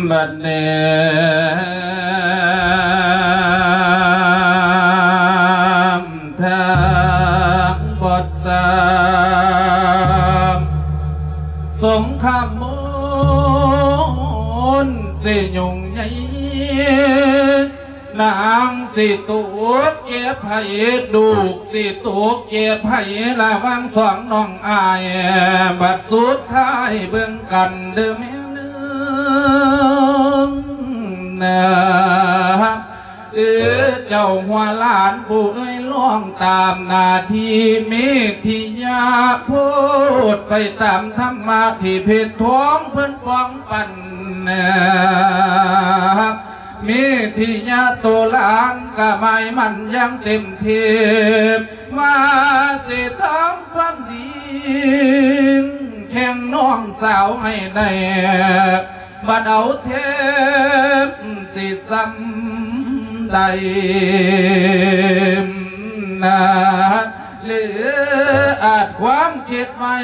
ບັດແນມທາງບົດສາມ ສົງຄາມມົນຊິຫຍຸ້ງໃຫຍ່ ນາງຊິຕົກເກັບໄພ ລູກຊິຕົກເກັບໄພ ລະຫວ່າງສອງນ້ອງອ້າຍ ບັດສຸດທ້າຍເບິ່ງກັນເດີ້ແມ່ເອີຍນາ ເອີ ເຈົ້າຫົວຫຼານຜູ້ເອີຍ ລອງຕາມໜ້າທີ່ ເມທິຍາໂພດໄປຕາມທຳມະທີ່ເພັດທອງເພິ່ນປອງປັນນາ ເມທິຍາໂຕຫຼານກະໝາຍໝັ້ນຢ່າງເຕັມທີ່ ວ່າຊິທຳຄວາມດີແຂ່ງນ້ອງສາວໃຫ້ໄດ້ ບັດເອົາແທບຊິສ່ຳໃດນາ ຫຼືອາດຄວາມຄິດໄວ້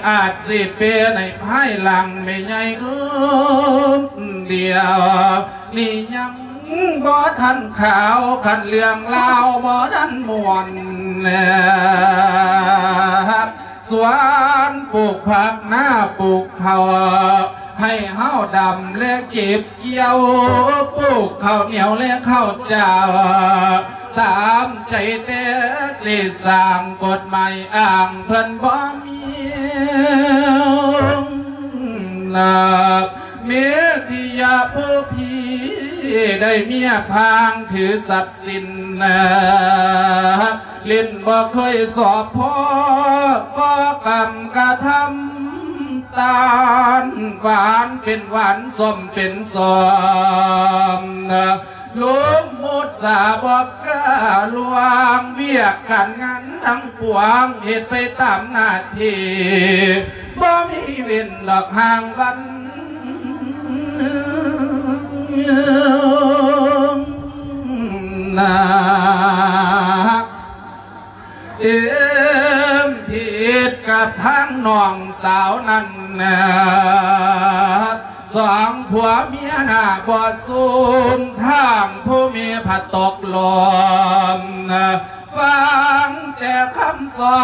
ອາດຊິເປັນໃນພາຍຫຼັງ ແມ່ໃຫຍ່ເອີຍ ດຽວນີ້ຍັງບໍ່ທັນຂາວ ຄັນເລື່ອງລາວບໍ່ທັນມ່ວນ ສວນປູກຜັກ ນາປູກເຂົ້າ ໃຫ້ເຮົາດຳແລະເກັບກ່ຽວ ປູກເຂົ້າໜຽວແລະເຂົ້າເຈົ້າ ຕາມໃຈແຕ່ຊິສ້າງກົດໝາຍອ້າງເພິ່ນບໍ່ມີນາ ເມທິຍາຜູ້ພີ່ໄດ້ເມຍພາງຖືສັບສິນນາ ຫຼິ້ນບໍ່ເຄີຍສອບພໍ ກໍກຳກະທຳຕານ ຫວານເປັນຫວານ ສົ້ມເປັນສົ້ມນາ ລົມໝົດສາບອກກະລວງ ວຽກການງານທັງປວງ ເຮັດໄປຕາມໜ້າທີ່ ບໍ່ມີເວັ້ນດອກຫ່າງວັນນາ ເອີມຜິດກັບທາງນ້ອງສາວນັ້ນນາ ສອງຜົວເມຍໜ້າບໍ່ສົມ ທາງຜູ້ເມຍພັດຕົກລົມນາ ຟັງແຕ່ຄຳຊອ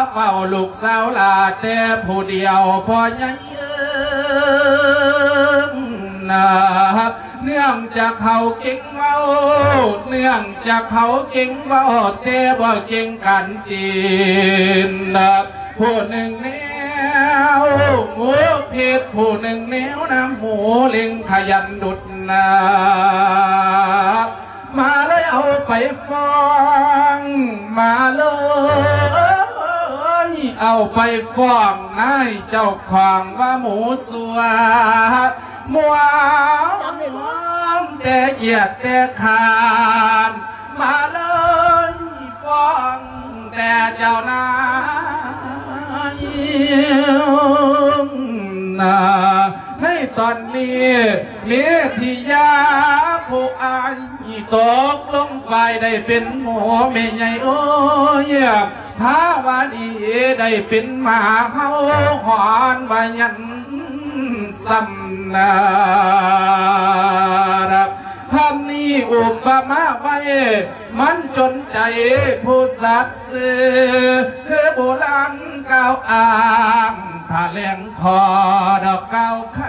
ບເວົ້າ ລູກສາວຫຼ້າແຕ່ຜູ້ດຽວ ພໍ່ໃຫຍ່ເອີຍນາ ເນື່ອງຈາກເຂົາເກັ່ງເວົ້າ ເນື່ອງຈາກເຂົາເກັ່ງເວົ້າ ແຕ່ບໍ່ເກັ່ງການຈີນນາ ຜູ້ໜຶ່ງແນວງູພິດ ຜູ້ໜຶ່ງແນວນຳໝູ ເລັ່ງຂະຫຍັນດຸດນາ ມາເລີຍເອົາໄປຟ້ອງ ມາເລີຍເອົາໄປຟ້ອງນາຍເຈົ້າຂອງວ່າໝູຊົ່ວ ມວນແຕ່ກຽດແຕ່ຄ້ານ ມາເລີຍຟ້ອງແຕ່ເຈົ້ານາຍນາ ໃນຕອນນີ້ເມທິຍາຜູ້ອ້າຍ ຕົກລົງຝ່າຍໄດ້ເປັນໝູ ແມ່ໃຫຍ່ເອີຍ ພາວະດີໄດ້ເປັນໝາເຫົ່າຫອນວ່າຍັນສ່ຳນາ ຄຳນີ້ອຸປະມາໄວ້ ມັນຈົນໃຈຜູ້ສັດຊື່ ຄືໂບລານກ່າວອ້າງ ຖ້າແລງຂໍດອກກ່າວໄຄ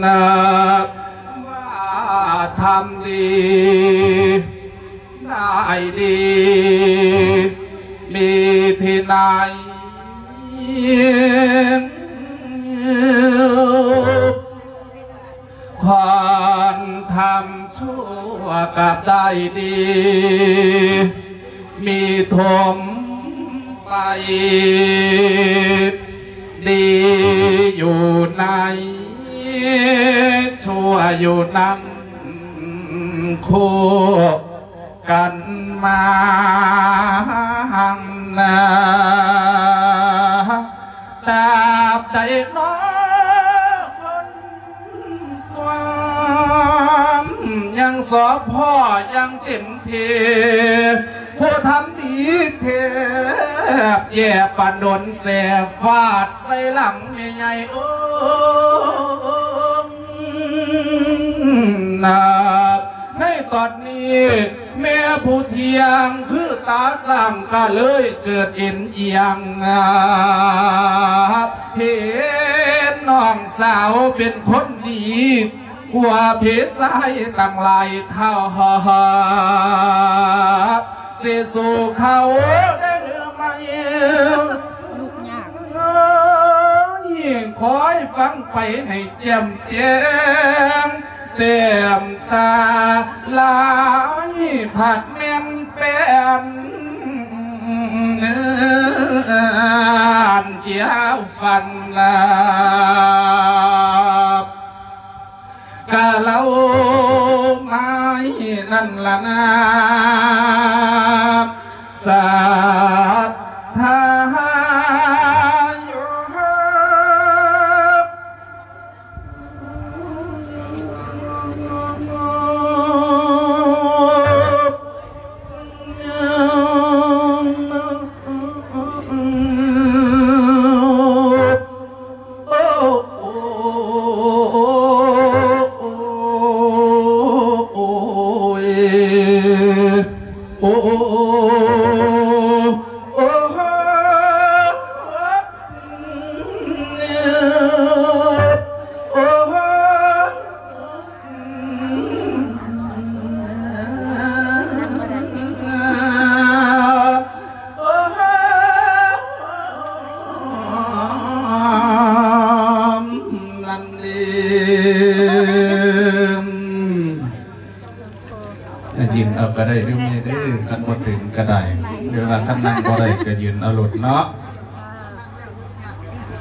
ນາ ວ່າທຳດີ ນາຍດີ ມີທີ່ໄໜ ຄວນທຳຊົ່ວກັບໄດ້ດີ ມີຖົມໄປ ດີຢູ່ໃນ ຊົ່ວຢູ່ນຳ ຄູ່ກັນມານາ ຕາບໃດເນາະຄົນ ສວມຍັງສອບພໍຢ່າງເຕັມທີ່ ຜູ້ທຳດີແທບແຍ່ປານດົນແສບຟາດໃສ່ຫຼັງແມ່ໃຫຍ່ເອີຍນາ. ໃນຕອນນີ້ແມ່ຜູ້ທ່ຽງຄືຕາສ້າງກະເລີຍເກີດເອັນອຽງ ເຫັນນ້ອງສາວເປັນຄົນດີ ກວ່າເພຊາຍຕັ້ງຫຼາຍເທົ່າ ຊິສູ້ເຂົາໄດ້ຫຼືໄໝ? ລູກຍາກ ຄອຍຟັງໄປໃຫ້ແຈ່ມແຈ້ງ ແຕ້ມຕາລາຍພັດແມ່ນແປ້ນ ອັນກ່ຽວຟັນລາບ ກະເລົ່າມາຍນັ້ນລະນາ ສັດທາ. ນັ້ນເດ້ ຢືນເອົາກໍໄດ້ເດີແມ່ເດີ ຄັນບໍ່ເຖິງກໍໄດ້ ຫຼືວ່າຄັນນັ່ງບໍ່ໄດ້ກໍຢືນເອົາໂລດເນາະ.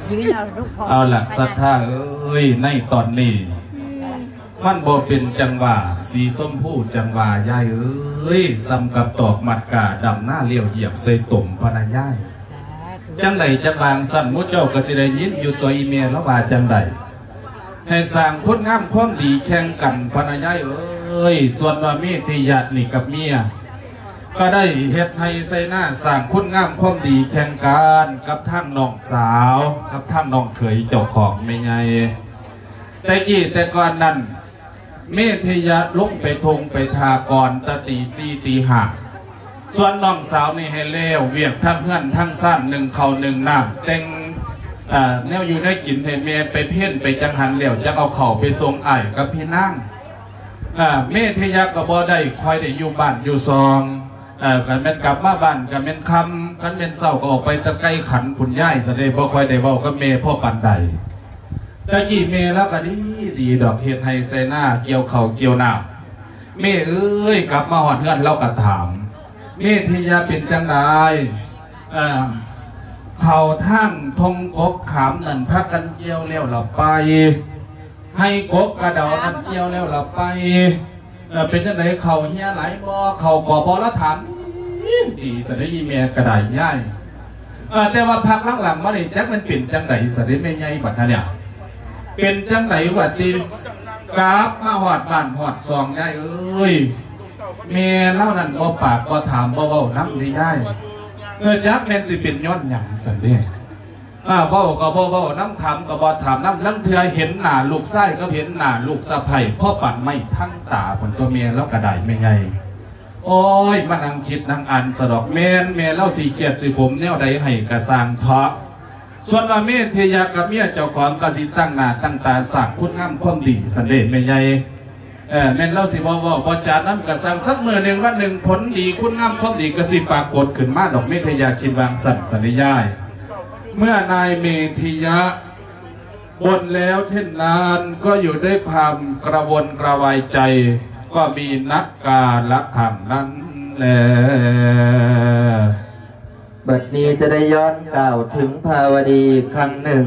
ຢືນເອົາລູກພໍ່ ເອົາລະ ສັດທາເອີຍ ໃນຕອນນີ້ ມັນບໍ່ເປັນຈັງຫວະ ສີຊົມພູຈັ່ງຫວະ ຍາຍເອີຍ ສ່ຳກັບຕອກມັດກາ ດຳນາລ້ຽວຢຽບໃສ່ຕົມພະນະຍາຍ. ສາທຸ ຈັ່ງໃດຈັ່ງວ່າຈັ່ງຊັ້ນ ໝູ່ເຈົ້າກໍຊິໄດ້ຍິນຢູ່ຕົວະ ອີ່ແມ່ລາວວ່າຈັ່ງໃດ ໃຫ້ສ້າງຄຸນງາມຄວາມດີແຂ່ງກັນພະນະຍາຍເອີຍ. ສ່ວນວ່າເມທິຍະນີ້ກັບເມຍ ກໍໄດ້ເຮັດໄຮ່ໄຖນາ ສ້າງຄຸນງາມຄວາມດີແຂ່ງກັນກັບທາງນ້ອງສາວ ກັບທາງນ້ອງເຂີຍເຈົ້າຂອງແມ່ໃຫຍ່. ແຕ່ກີ້ແຕ່ກ່ອນນັ້ນ ເມທິຍະລົງໄປທົ່ງໄປທ່າກ່ອນແຕ່ຕີສີ່ຕີຫ້າ ສ່ວນນ້ອງສາວນີ້ໃຫ້ແລ້ວວຽກທັງເຮືອນທັງຊານ ໜຶ້ງເຂົ້າໜຶ້ງນ້ຳ ແຕ່ງ ເອີ ແນວຢູ່ແນວກິນໃຫ້ແມ່ ໄປເພັນໄປຈັງຫັນແລ້ວ ຈັກເອົາເຂົ້າໄປສົ່ງອ້າຍກັບພີ່ນາງ. ເອີ ເມທິຍະກໍບໍ່ໄດ້ຄ່ອຍໄດ້ຢູ່ບ້ານຢູ່ຊ່ອງ ເອີ ຄັນແມ່ນກັບມາບ້ານກໍແມ່ນຄ່ຳ ຄັນແມ່ນເຊົ້າກໍອອກໄປແຕ່ໄກ່ຂັນພຸ້ນຍາຍ ຊະເດ້ ບໍ່ຄ່ອຍໄດ້ເວົ້າກັບແມ່ພໍປານໃດ. ແຕ່ກີ້ແມ່ລາວກໍດີ ດີດອກ ເຮັດໄຮ່ໄຖນາ ກ່ຽວເຂົ້າກ່ຽວນ້ຳ. ແມ່ເອີຍ ກັບມາຮອດເຮືອນລາວກໍຖາມ ເມທິຍະເປັນຈັ່ງໃດ? ເອີ ເຂົ້າທາງທົ່ງກົກຂາມນັ້ນພາກັນກ່ຽວແລ້ວລະໄປ? ໄຮ່ກົກກະເດົານັ້ນກ່ຽວແລ້ວລະໄປ? ເອີ ເປັນຈັ່ງໃດ ເຂົ້າເຮຍຫຼາຍບໍ່? ເຂົ້າກໍບໍ່ລະຖາມ ດີຊະເດ້ ອີ່ແມ່ກໍໄດ້ຍາຍ. ເອີ ແຕ່ວ່າພັກຫຼັງໆມານີ້ ຈັກມັນເປັນຈັ່ງໃດຊະເດ້ແມ່ໃຫຍ່ ບັດທະເນຍ ເປັນຈັ່ງໃດວະຕິ? ກັບມາຮອດບ້ານຮອດຊ່ອງຍາຍເອີຍ ແມ່ລາວນັ້ນບໍ່ປາກບໍ່ຖາມ ບໍ່ເວົ້ານຳເດ້ຍາຍ. ເອີ ຈັກແມ່ນຊິເປັນຍ້ອນຫຍັງຊັ້ນເດ້. ອາ ເວົ້າກໍບໍ່ເວົ້ານຳ ຖາມກໍບໍ່ຖາມນຳ ລາງເທື່ອເຫັນໜ້າລູກຊາຍກັບເຫັນໜ້າລູກສະໃພ້ ພໍປານໄມ້ທັງຕາພຸ້ນຕົວະ ແມ່ລາວກໍໄດ້ແມ່ໃຫຍ່. ໂອ້ຍ ມານັ່ງຄິດນັ່ງອ່ານຊະດອກ ແມ່ນແມ່ລາວຊິຄຽດຊິຂົມແນວໃດໃຫ້ກະຊ່າງເທາະ. ສ່ວນວ່າເມທິຍະກັບເມຍເຈົ້າຂອງກໍຊິຕັ້ງໜ້າຕັ້ງຕາສ້າງຄຸນງາມຄວາມດີຊັ້ນເດ້ແມ່ໃຫຍ່. ເອີ ແມ່ນລາວຊິບໍ່ເວົ້າບໍ່ຈານຳກະຊ່າງ ສັກມື້ໜຶ່ງວັນໜຶ່ງ ຜົນດີຄຸນງາມຄວາມດີກໍຊິປາກົດຂຶ້ນມາດອກ ເມທິຍະຄິດວ່າຈັ່ງຊັ້ນ ສັນເດຍາຍ. ເມື່ອນາຍເມທິຍະ บ่นแล้วเช่นนั้น ก็อยู่ด้วยความกระวนกระวายใจ ก็มีนักกาละครั้งนั้นแล. บัดนี้จะได้ย้อนกล่าวถึงภาวดีอีกครั้งหนึ่ง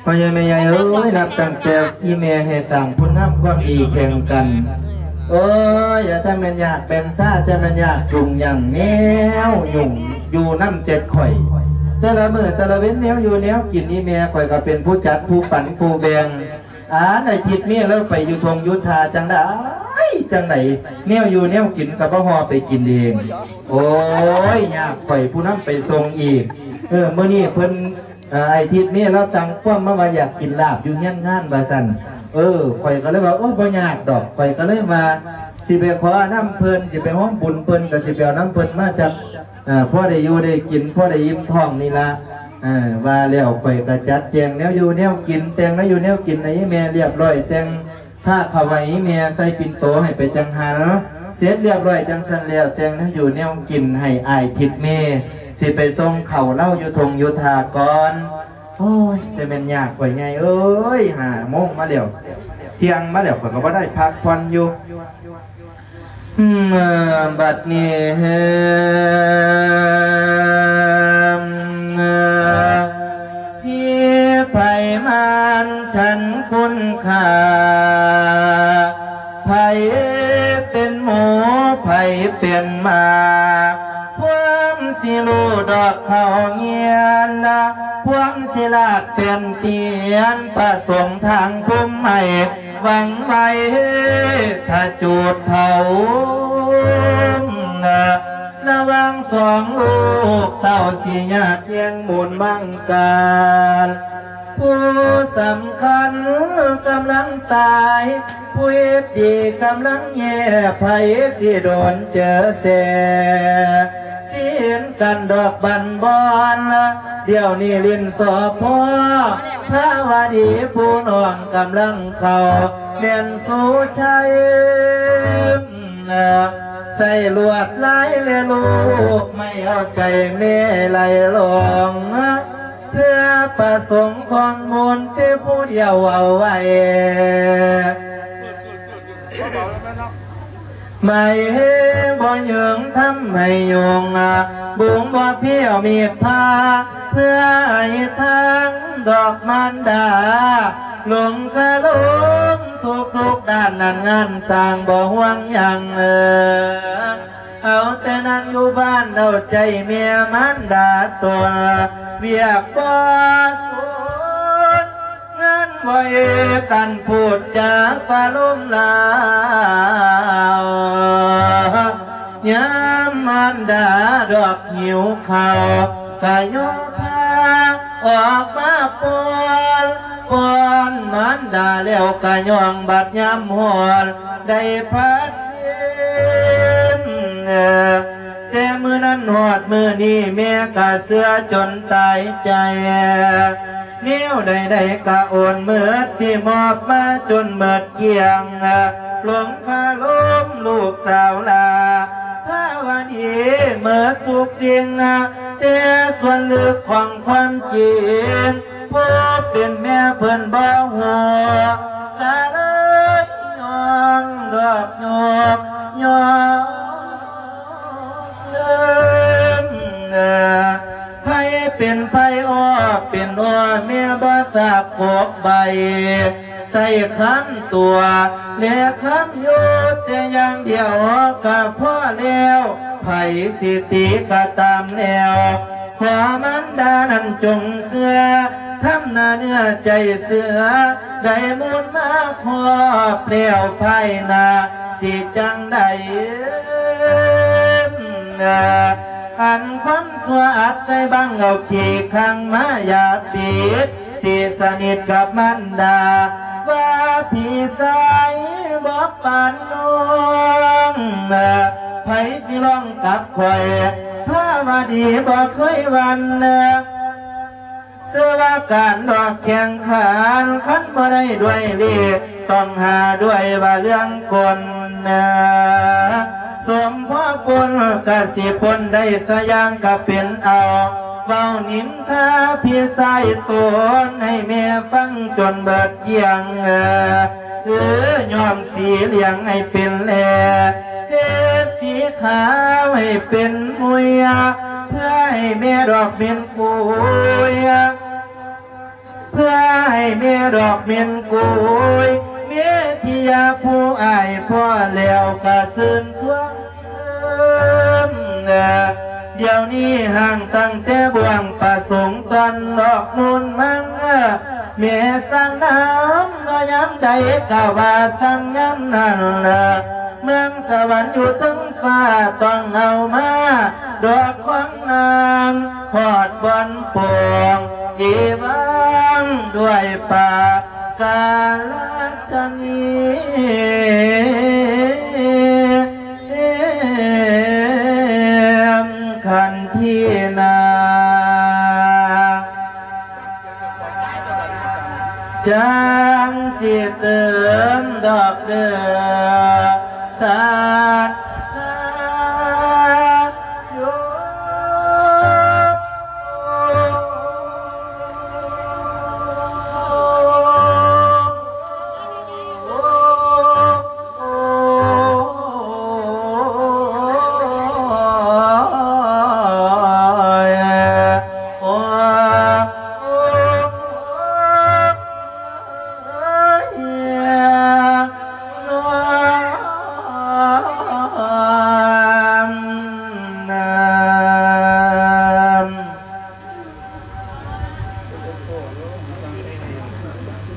พ่อใหญ่แม่ใหญ่เอ้ย นับตั้งแต่อีแม่ให้สร้างคุณงามความดีแข่งกัน โอ้ย อย่าจะแม่นยากเป็นซ่า จะแม่นยากจุงหยังแนวยุ่งอยู่นำเจ็ดข่อย แต่ละมื้อแต่ละเว็นแนวอยู่แนวกิน อีแม่ข่อยก็เป็นผู้จัดผู้ปันผู้แบ่ง อันไอ้ทิดเมียลาวไปอยู่ท่งอยู่ท่าจั่งใด ຍ ຈັ່ງໃດ ແນວຢູ່ແນວກິນກໍບໍ່ຫໍ່ໄປກິນເອງ. ໂອ້ຍ ຍາກ ຂ້ອຍຜູ້ນຳໄປສົ່ງອີກ. ເອີ ມື້ນີ້ເພິ່ນ ເອີ ອ້າຍທິດເມລາວສັ່ງຄວາມມາວ່າຢາກກິນລາບຢູ່ເຮືອນງານວ່າຊັ້ນ. ເອີ ຂ້ອຍກໍເລີຍວ່າ ໂອ້ ບໍ່ຍາກດອກ. ຂ້ອຍກໍເລີຍວ່າ ຊິໄປຂໍນຳເພິ່ນ ຊິໄປຮ່ວມບຸນເພິ່ນ ກໍຊິໄປເອົານຳເພິ່ນມາຈັກ ເອີ ພໍໄດ້ຢູ່ໄດ້ກິນ ພໍໄດ້ອີ່ມທ້ອງນີ້ລະ. ເອີ ວ່າແລ້ວຂ້ອຍກໍຈັດແຈງແນວຢູ່ແນວກິນ ແຕ່ງແນວຢູ່ແນວກິນໃຫ້ແມ່ລຽບຮ້ອຍ ແຕ່ງ ພາເຂົ້າໄວ້ແມ່ໃສ່ປິ່ນໂຕໃຫ້ໄປຈັງຫັນ ເສັດລຽບຮ້ອຍຈັ່ງຊັ້ນແລ້ວ ແຕ່ງແນວຢູ່ແນວກິນໃຫ້ອ້າຍທິດເມ ຊິໄປສົ່ງເຂົ້າເລົາຢູ່ທົ່ງຢູ່ທ່າກ່ອນ. ໂອ້ຍ ແຕ່ແມ່ນຍາກຂ້ອຍໃຫຍ່ເອີຍ ຫ້າໂມງມາແລ້ວ ທ່ຽງມາແລ້ວ ຂ້ອຍກໍບໍ່ໄດ້ພັກຜ່ອນຢູ່. ອືມ ບັດນີ້ ທີ່ໃຜມານ ສັນຄຸນຄ່າ ໃຜເປັນໝູ ໃຜເປັນໝາ ພວມຊິຮູ້ດອກເຂົ້າງຽນ ພວມຊິລາດເປັນຕຽນ ປະສົງທາງພູມໃຫ້ຫວັງໄວ້ ຖ້າຈູດເຜົາ ລະຫວ່າງສອງລູກເຕົ້າ ຊິຍາດແຍ່ງມູນມັງການ ຜູ້ສຳຄັນກຳລັງຕາຍ ຜູ້ເຮັດດີກຳລັງແຍ່ ໃຜຊິໂດນເຈີແສ ຊິເຫັນກັນດອກບັນບອນ ດຽວນີ້ຫຼິ້ນສໍພໍ ພາວະດີຜູ້ນ້ອງກຳລັງເຂົ້າ ແມ່ນສຸໄຊ ໃສ່ລວດລາຍແລະລູກໄມ້ ເອົາໃຈແມ່ໄຫຼຫຼອງ ເພື່ອປະສົງຂອງມູນ ແຕ່ຜູ້ດຽວເອົາໄວ້ ໄມ້ບໍ່ຍືງທຳໃຫ້ຍຸງ ບຸງບໍ່ພຽວມີດພາ ເພື່ອໃຫ້ທາງດອກມານດາ ລົງຄາລົງທຸກໆດ້ານ ນັ້ນງານສ້າງບໍ່ຫ່ວງຫຍັງ ເອີ ເອົາແຕ່ນັ່ງຢູ່ບ້ານເອົາໃຈແມ່ມານດາຕົນ ວຽກບໍ່ສຸດ ງານບໍ່ເຮັດ ອັນພູດຈາປະໂລມລາວ ຍາມມານດາດອກຫິວເຂົ້າ ກະຍໍພາອອກມາປ້ອນ ປ້ອນມານດາແລ້ວກະຍ່ອງ ບັດຍາມຮ້ອນໄດ້ພັດເຢັນ ແຕ່ມື້ນັ້ນຮອດມື້ນີ້ ແມ່ກະເຊື່ອຈົນຕາຍໃຈ ແນວໃດໆກະໂອນເໝິດ ຊິມອບມາຈົນເໝິດກ້ຽງ ລົງຄາລົມລູກສາວຫຼ້າ ພາວະດີເໝິດທຸກສິ່ງ ແຕ່ສ່ວນເລິກຂອງຄວາມຈິງ ຜູ້ເປັນແມ່ເພິ່ນບໍ່ຮູ້ ກະເລີຍຍ້ອງດອກໂຍກຍ້ອງ ເອີ ໃຜເປັນໃຜອໍເປັນອໍ ແມ່ບໍ່ສາກກົກໃບ ໃສ່ຄຳຕົວະ ແລະຄຳຢຸດແຕ່ຢ່າງດຽວກໍພໍແລ້ວ ໃຜຊິຕີກໍຕາມແລ້ວ ຂໍມານດານັ້ນຈົ່ງເຊື່ອ ທຳໜ້າເນື້ອໃຈເສືອ ໄດ້ມູນມາຄອບແລ້ວ ພາຍໜ້າຊິຈັ່ງໃດ ອັນຄວາມຊົ່ວອັດໃສ່ບັງ ເອົາຂີ້ຂັງມາຢາປິດ ຕີສະໜິດກັບມານດາ ວ່າພີ່ຊາຍບໍ່ປານນ້ອງ ໃຜຊິລອງກັບຂ້ອຍ ພາວະດີບໍ່ເຄີຍຫວັ່ນ ເຊື່ອວ່າການດອກແຂ່ງຂັນ ຄັນບໍ່ໄດ້ດ້ວຍເລກ ຕ້ອງຫາດ້ວຍວ່າເລື່ອງກົນ ສົມພໍປົນກະຊິປົນໄດ້ສະຢ່າງກະເປັນເອົາ ເວົ້ານິນທາພີ່ຊາຍຕົນໃຫ້ແມ່ຟັງຈົນເບີດກ້ຽງ ຫຼືຍ້ອມສີຫຼຽງໃຫ້ເປັນແຫຼ ເຮັດສີຂາວໃຫ້ເປັນມຸຍ ເພື່ອໃຫ້ແມ່ດອກເມັນກຸຍ ເພື່ອໃຫ້ແມ່ດອກເມັນກຸຍ ເມທິຍາຜູ້ອ້າຍພໍ້ແລ້ວກະຊື່ນຊວງ ດຽວນີ້ຫ່າງຕັ້ງແຕ່ບ່ວງປະສົງຕອນດອກມູນມັງ ແມ່ສ້າງນ້ຳ ຍາມໃດກະວ່າສັ່ງຍາມນັ້ນລະ ເມືອງສະຫວັນຢູ່ເທິງຟ້າ ຕ້ອງເອົາມາດອກຂອງນາງ ຮອດບ່ອນໂປ່ງອີຫວັງດ້ວຍປາກາລະຊະນີ ຄັນທີນາ ຈັ່ງຊິຕື່ມດອກເດີ ສັດທາໂຍ.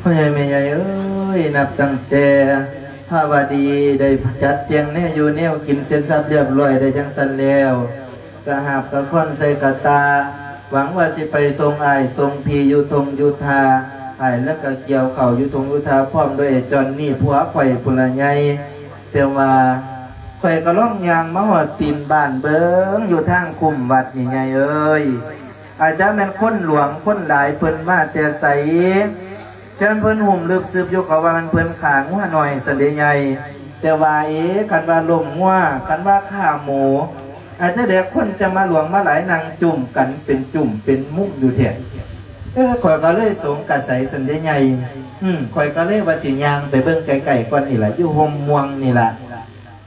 ພໍ່ໃຫຍ່ແມ່ໃຫຍ່ເອີຍ, ນັບຕັ້ງແຕ່ພະວະດີໄດ້ຈັດແຈງແນວຢູ່ແນວກິນເສັດສັບລຽບລ້ອຍໄດ້ຈັ່ງຊັ້ນແລ້ວ, ກະຫາບກະຄ້ອນໃສ່ກະຕ່າ, ຫວັງວ່າຊິໄປສົ່ງອ້າຍສົ່ງພີ່ຢູ່ທົ່ງຢູ່ທ່າ, ອ້າຍລະກະກ່ຽວເຂົ້າຢູ່ທົ່ງຢູ່ທ່າ ພ້ອມດ້ວຍໄອ້ຈອນນີ້ຜົວຂ້ອຍພຸ້ນລະໃຫຍ່. ແຕ່ວ່າຂ້ອຍກະລອງຍ່າງມາຮອດຕີນບ້ານເບິ່ງ ຢູ່ທາງຄຸ້ມວັດນີ້ໃຫຍ່ເອີຍ. ອາດຈະແມ່ນຄົນຫຼວງຄົນຫຼາຍ ເພິ່ນມາແຕ່ໃສ, ແຕ່ເພິ່ນຫຸ້ມລຶບຊຶບຢູ່ ເຂົາວ່າແມ່ນເພິ່ນຂ້າງົວໜ້ອຍຊັ້ນເດໃຫຍ່. ແຕ່ວ່າເອ ຄັນວ່າລົ້ມງົວ ຄັນວ່າຂ້າໝູ ອາດຈະແດ່ຄົນຈະມາຫຼວງມາຫຼາຍ ນັ່ງຈຸ້ມກັນເປັນຈຸ້ມເປັນມຸມຢູ່ແທ້. ເອີ ຂ້ອຍກໍເລີຍສົງກະໄສຊັ້ນເດໃຫຍ່. ອືມ ຂ້ອຍກໍເລີຍວ່າຊິຍ່າງໄປເບິ່ງໃກ້ໆກ່ອນນີ້ລະ ຢູ່ຮົ່ມມ່ວງນີ້ລະ.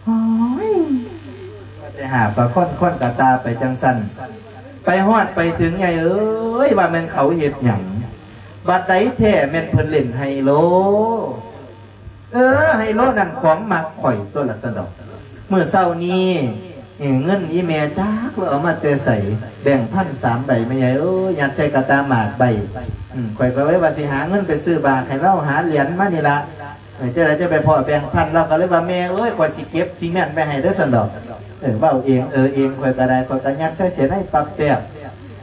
ໂອ້ຍ ວ່າແຕ່ຫາປາຄອນຄອນກະຕ່າໄປຈັ່ງຊັ້ນ ໄປຮອດໄປເຖິງໃຫຍ່ເອີຍ ວ່າແມ່ນເຂົາເຮັດຫຍັງ ບັດໃດແທ້ແມ່ນເພິ່ນຫຼິ້ນໄຮໂລ. ເອີ ໄຮໂລນັ້ນຂອງມັກຂ້ອຍຕົວະລະ ຊັ້ນດອກ. ມື້ເຊົ້ານີ້ ເອີ ເງິນອີ່ແມ່ຈັກລາວເອົາມາແຕ່ໃສ ແບງພັນສາມໃບ ແມ່ໃຫຍ່ເອີຍ ຍັດໃສ່ກະຕ່າໝາກໃບ. ອືມ ຂ້ອຍກໍເລີຍວ່າຊິຫາເງິນໄປຊື້ບາກໃຫ້ລາວ ຫາຫຼຽນມານີ້ລະ. ເອີ ຈັ່ງໃດຈະໄປພໍ້ແບງພັນ ລາວກໍເລີຍວ່າ ແມ່ເອີຍ ຂ້ອຍຊິເກັບຊິແມ່ນໄວ້ໃຫ້ເດີ ຊັ້ນດອກ. ເອີ ເວົ້າເອງເອີເອງ ຂ້ອຍກໍໄດ້ ຂ້ອຍກໍຍັດໃສ່ເສຍໃນປັບແປບ.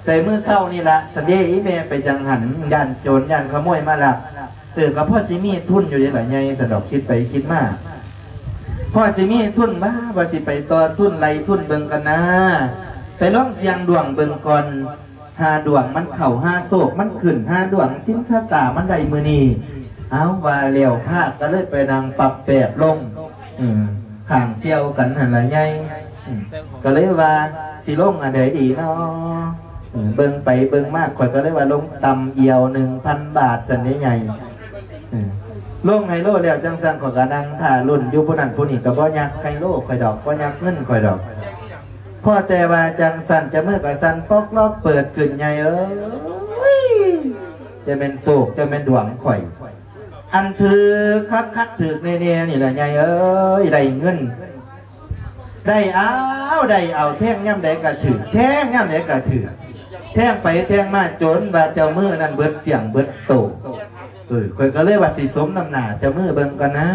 ແຕ່ມື້ເຊົ້ານີ້ລະ ສະເດ ອີແມ່ໄປຈັ່ງຫັ້ນ ຢ້ານໂຈນ ຢ້ານຂະໂມຍມາລັກ. ເອີ ກໍພໍຊິມີທຶນຢູ່ເດລະໃຫຍ່ ຊັ້ນດອກ. ຄິດໄປຄິດມາ ພໍຊິມີທຶນວ່າ ວ່າຊິໄປຕໍ່ທຶນໄລ່ທຶນເບິ່ງກັນນາ ໄປລອງສ່ຽງດວງເບິ່ງກ່ອນ. ຫາດວງມັນເຂົ້າ ຫາໂຊກມັນຂຶ້ນ ຫາດວງສິນຊະຕາມັນໄດ້ມື້ນີ້. ເອົາ ວ່າແລ້ວພາກກໍເລີຍໄປນັ່ງປັບແປບລົງ ເອີ ຂ້າງສ່ຽວກັນຫັ້ນລະໃຫຍ່. ເອີ ກໍເລີຍວ່າຊິລົງອັນໃດດີນໍ. ເອີ ເບິ່ງໄປເບິ່ງມາ ຂ້ອຍກໍເລີຍວ່າລົງຕ່ຳອຽວໜຶ່ງພັນບາດຊັ້ນເດໃຫຍ່. ເອີ ລົງໄຮໂລແລ້ວຈັ່ງຊັ້ນ ຂ້ອຍກໍນັ່ງຖ້າລຸ້ນຢູ່ຜູ້ນັ້ນຜູ້ນີ້ ກໍບໍ່ຍັກໄຮໂລຂ້ອຍດອກ ບໍ່ຍັກເງິນຂ້ອຍດອກ. ພໍແຕ່ວ່າຈັ່ງຊັ້ນ ຈະມືກະສັ່ນປອກລອກເປີດຂຶ້ນໃຫຍ່ເອີຍ. ຈະແມ່ນໂຊກ ຈະແມ່ນດວງຂ້ອຍ ອັນຖືກຄັກໆ ຖືກແນ່ໆ ນີ້ລະໃຫຍ່ເອີຍ. ໄດ້ເງິນ ໄດ້ເອົາ ໄດ້ເອົາ ແທງຍາມໃດກະຖືກ ແທງຍາມໃດກະຖືກ ແທງໄປແທງມາ ຈົນວ່າເຈົ້າມືນັ້ນເບິດສ່ຽງເບິດໂຕ. ເອີ ຂ້ອຍກໍເລີຍວ່າຊິສົມນ້ຳໜ້າເຈົ້າມືເບິ່ງກ່ອນນາ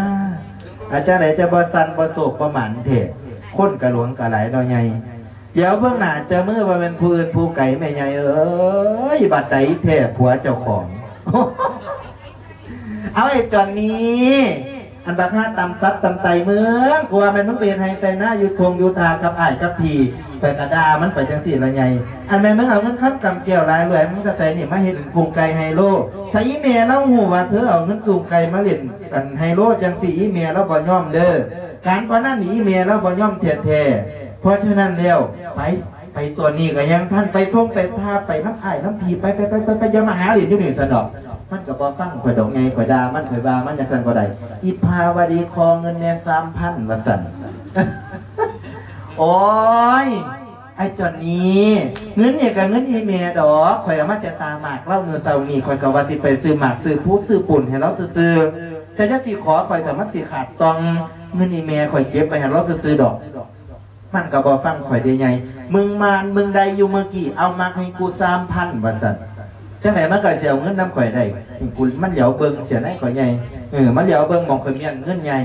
ອາ ຈັ່ງໃດຈະບໍ່ສັ່ນບໍ່ໂຊກບໍ່ໝານແທ້ ຄົນກະຫຼວງກະຫຼາຍເນາະໃຫຍ່. ດຽວເບິ່ງໜ້າເຈົ້າມືວ່າແມ່ນຜູ້ອື່ນຜູ້ໄກແມ່ໃຫຍ່ເອີຍ ບັດໃດແທ້ຜົວເຈົ້າຂອງ. ເອົາ ໄອ້ຈອນນີ້ ອັນບັກຫາຕຳຕັບຕຳໄຕມຶງ ກູວ່າແມ່ນມຶງໄປເຮັດໄຮ່ໄຖນາຢູ່ທົ່ງຢູ່ທ່າກັບອ້າຍກັບພີ່ ຂ້ອຍກະດ່າມັນໄປຈັ່ງຊີ້ລະໃຫຍ່. ອັນແມ່ນມຶງເອົາເງິນຄຳກຳແກ້ວຫຼາຍລວຍມາແຕ່ໃສນີ້ ມາເຮັດກຸ້ງໄກ່ໄຮໂລ. ຖ້າອີ່ແມ່ລາວຮູ້ວ່າເທີເອົາເງິນກຸ້ງໄກ່ມາຫຼິ້ນອັນໄຮໂລຈັ່ງຊີ້ ອີ່ແມ່ລາວບໍ່ຍອມເດີ. ການພະນັນນີ້ອີ່ແມ່ລາວບໍ່ຍອມແທ້ໆ. ເພາະສະນັ້ນແລ້ວ ໄປ ໄປຕອນນີ້ກໍຍັງທັນ ໄປທົ່ງໄປທ່າ ໄປນຳອ້າຍນຳພີ່ ໄປ ໄປ ໄປ ໄປ ຢ່າມາຫາຫຼິ້ນຢູ່ນີ້ຊັ້ນດອກ. ມັນກໍບໍ່ຟັງຂ້ອຍດອກ ໃຫຍ່ຂ້ອຍດ່າມັນ ຂ້ອຍວ່າມັນຈັ່ງຊັ້ນບໍ່ໄດ້. ອີພາວະດີຂໍເງິນແດ່ສາມພັນ ວ່າຊັ້ນ. ໂອ້ຍ ໄອ້ຈອນນີ້ ເງິນນີ້ກໍເງິນອີ່ແມ່ດອກ ຂ້ອຍເອົາມາແຕ່ຕາໝາກລາວມື້ເຊົ້ານີ້ ຂ້ອຍກໍວ່າຊິໄປຊື້ໝາກຊື້ພູຊື້ປູນໃຫ້ລາວຊື່ໆ. ເຈົ້າຢ່າຊິຂໍຂ້ອຍ ຖ້າມັນຊິຂາດຕ່ອງ ເງິນອີ່ແມ່ຂ້ອຍເກັບໄວ້ໃຫ້ລາວຊື່ໆດອກ. ມັນກໍບໍ່ຟັງຂ້ອຍເດ້ໃຫຍ່ ມຶງມານ ມຶງໄດ້ຢູ່ມື້ກີ້ ເອົາມາໃຫ້ກູສາມພັນ ວ່າຊັ້ນ. ຈັ່ງໃດມັນກໍຊິເອົາເງິນນຳຂ້ອຍໄດ້? ກູ ມັນຫຼຽວເບິ່ງເສຍໃນຂ້ອຍໃຫຍ່ ເອີ ມັນຫຼຽວເບິ່ງໝ່ອງຂ້ອຍມ້ຽນເງິນໃຫຍ່.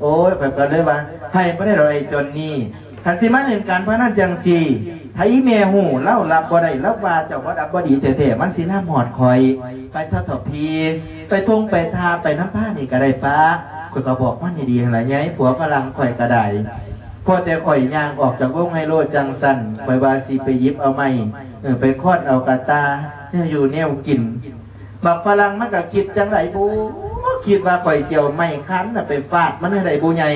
ໂອ້ຍ ຂ້ອຍກໍເລີຍວ່າ ໃຫ້ບໍ່ໄດ້ດອກໄອ້ຈອນນີ້ ຄັນຊິມາຫຼິ້ນການພະນັນຈັ່ງຊີ້ ຖ້າອີແມ່ຮູ້ ລາວຮັບບໍ່ໄດ້ ລາວວ່າເຈົ້າບໍ່ດັບບໍ່ດີແທ້ໆ ມັນຊິນຳຮອດຂ້ອຍ ໄປທະເຖາະພີ ໄປທົ່ງໄປທ່າ ໄປນຳພານີ້ກໍໄດ້ປະ. ຂ້ອຍກໍບອກມັນດີໆຫັ້ນລະໃຫຍ່ ຜົວຝຣັ່ງຂ້ອຍກໍໄດ້. ພໍແຕ່ຂ້ອຍຍ່າງອອກຈາກໂຮງໄຮໂລຈັ່ງຊັ້ນ ຂ້ອຍວ່າຊິໄປຫຍິບເອົາໄມ້ ເອີ ໄປຄ້ອນເອົາກະຕ່າ ແນວຢູ່ແນວກິນ. ບັກຝຣັ່ງມັນກໍຄິດຈັ່ງໃດບຸ ຄິດວ່າຂ້ອຍຊິເອົາໄມ້ຄັນນະໄປຟາດມັນໃຫ້ໄດ້ບຸໃຫຍ່.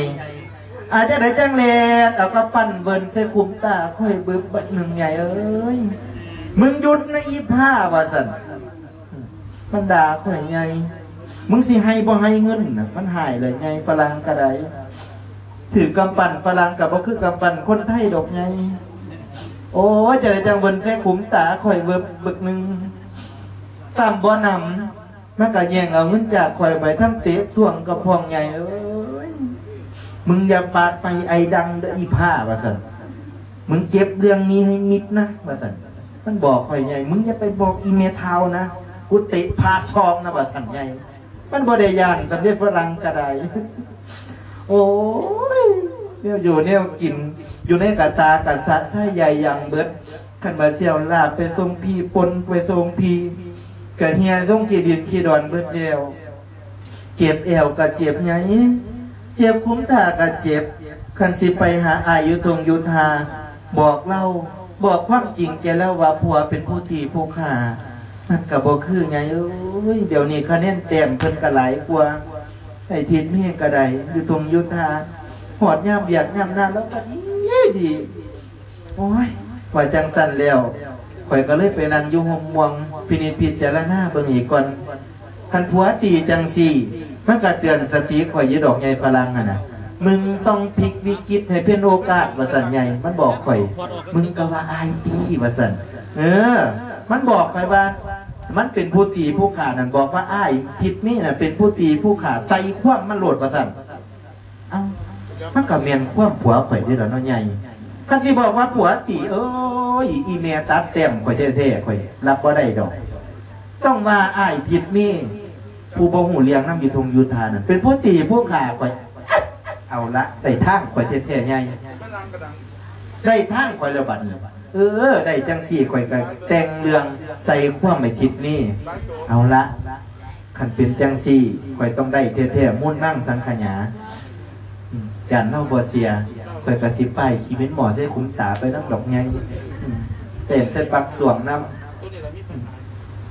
ອາ ຈັ່ງໃດຈັ່ງແລ່ນເອົາກຳປັ້ນເວີນໃສ່ຂຸມຕາຂ້ອຍບຶບບັດໜຶ່ງໃຫຍ່ເອີຍ. ມຶງຢຸດນະອີພາ ວ່າຊັ້ນ. ມັນດ່າຂ້ອຍໃຫຍ່ ມຶງຊິໃຫ້ບໍ່ໃຫ້ເງິນນະ ມັນຮ້າຍແຫຼະໃຫຍ່. ຝຣັ່ງກໍໄດ້ ຖືກກຳປັ້ນຝຣັ່ງກໍບໍ່ຄືກຳປັ້ນຄົນໄທດອກໃຫຍ່. ໂອ້ຍ ຈັ່ງໃດຈັ່ງເວີນໃສ່ຂຸມຕາຂ້ອຍເວີບບຶກໜຶ່ງ ຊ້ຳບໍ່ໜຳ ມັນກໍແຍ່ງເອົາເງິນຈາກຂ້ອຍໄປ ທັງເຕະຊ່ວງກະພອງໃຫຍ່ເອີຍ. ມຶງຢ່າປາກໄປໄອດັງເດີ້ອີພາ ວ່າຊັ້ນ. ມຶງເກັບເລື່ອງນີ້ໃຫ້ມິດນະ ວ່າຊັ້ນ. ມັນບອກຂ້ອຍໃຫຍ່ ມຶງຢ່າໄປບອກອີແມ່ທ້າວນະ ກູເຕະພາດຊອງນະ ວ່າຊັ້ນໃຫຍ່. ມັນບໍ່ໄດ້ຢ້ານສ່ຳເດ ຝຣັ່ງກໍໄດ້. ໂອ້ຍ ແນວຢູ່ແນວກິນ ຢູ່ໃນກະຕາກະສະຊາຍໃຫຍ່ຢ່າງເບິດ. ຄັນວ່າຊິເອົາລາບໄປສົ່ງພີ່ ປົ່ນໄປສົ່ງພີ່ ກະເຫ່ຍລົງຂີ້ດິນຂີ້ດອນເບິດແລ້ວ. ເຈັບແອວກະເຈັບໃຫຍ່ ເຈັບຂຸມຕາກະເຈັບ. ຄັນຊິໄປຫາອ້າຍຢູ່ທົ່ງຢູ່ທ່າ ບອກລາວ ບອກຄວາມຈິງແກ່ລາວວ່າຜົວເປັນຜູ້ຕີຜູ້ຂ້າ ມັນກະບໍ່ຄືໃຫຍ່ເອີຍ. ດຽວນີ້ຄະແນນແຕ້ມເພິ່ນກະຫຼາຍກວ່າ ໄອ້ທິດເມກະໄດ້ ຢູ່ທົ່ງຢູ່ທ່າ ຮອດຍາມວຽກຍາມງານລາວກະດີດີ. ໂອ້ຍ ວ່າຈັ່ງຊັ້ນແລ້ວ ຂ້ອຍກໍເລີຍໄປນັ່ງຢູ່ຮົ່ມມ່ວງ ພິນິດພິຈາລະນາເບິ່ງອີກກ່ອນ. ຄັນຜົວຕີຈັ່ງຊີ້ ມັນກໍເຕືອນສະຕິຂ້ອຍຢູ່ດອກໃຫຍ່ຝຣັ່ງຫັ້ນນະ. ມຶງຕ້ອງພິກວິກິດໃຫ້ເປັນໂອກາດ ວ່າຊັ້ນໃຫຍ່ ມັນບອກຂ້ອຍ. ມຶງກໍວ່າອ້າຍຕີ ວ່າຊັ້ນ. ເອີ ມັນບອກຂ້ອຍວ່າ ມັນເປັນຜູ້ຕີຜູ້ຂ້ານັ້ນ ບອກວ່າອ້າຍທິດເມນະເປັນຜູ້ຕີຜູ້ຂ້າ ໃສ່ຄວາມມັນໂລດ ວ່າຊັ້ນ. ເອົ້າ ມັນກໍແມ່ນຄວາມຜົວຂ້ອຍເດ້ລະເນາະໃຫຍ່. ຄັນຊິບອກວ່າຜົວຕີ ເອີຍ ອີແມ່ຕັດແຕ້ມຂ້ອຍແທ້ໆ ຂ້ອຍຮັບບໍ່ໄດ້ດອກ. ຕ້ອງວ່າອ້າຍທິດເມ ຜູ້ບໍ່ຮູ້ເລື່ອງນຳຢູ່ທົ່ງຢູ່ທ່ານັ້ນ ເປັນຜູ້ຕີຜູ້ຂ້າຂ້ອຍ. ເອົາລະ ໄດ້ທາງຂ້ອຍແທ້ໆໃຫຍ່ ໄດ້ທາງຂ້ອຍແລ້ວບັດນີ້. ເອີ ໄດ້ຈັ່ງຊີ້ຂ້ອຍກໍແຕ່ງເລື່ອງໃສ່ຄວາມໄອ້ທິດເມ. ເອົາລະ ຄັນເປັນຈັ່ງຊີ້ ຂ້ອຍຕ້ອງໄດ້ແທ້ໆ ມູນມັງສັງຂະຫຍາ. ອືມ ຢ້ານລາວບໍ່ເຊື່ອ ຂ້ອຍກໍຊິປ້າຍຂີ້ເໝັນໝໍ້ໃສ່ຂຸມຕາໄປນຳດອກໃຫຍ່. ອືມ ເຕັ້ນໃສ່ປັກສ່ວງນຳ. ອືມ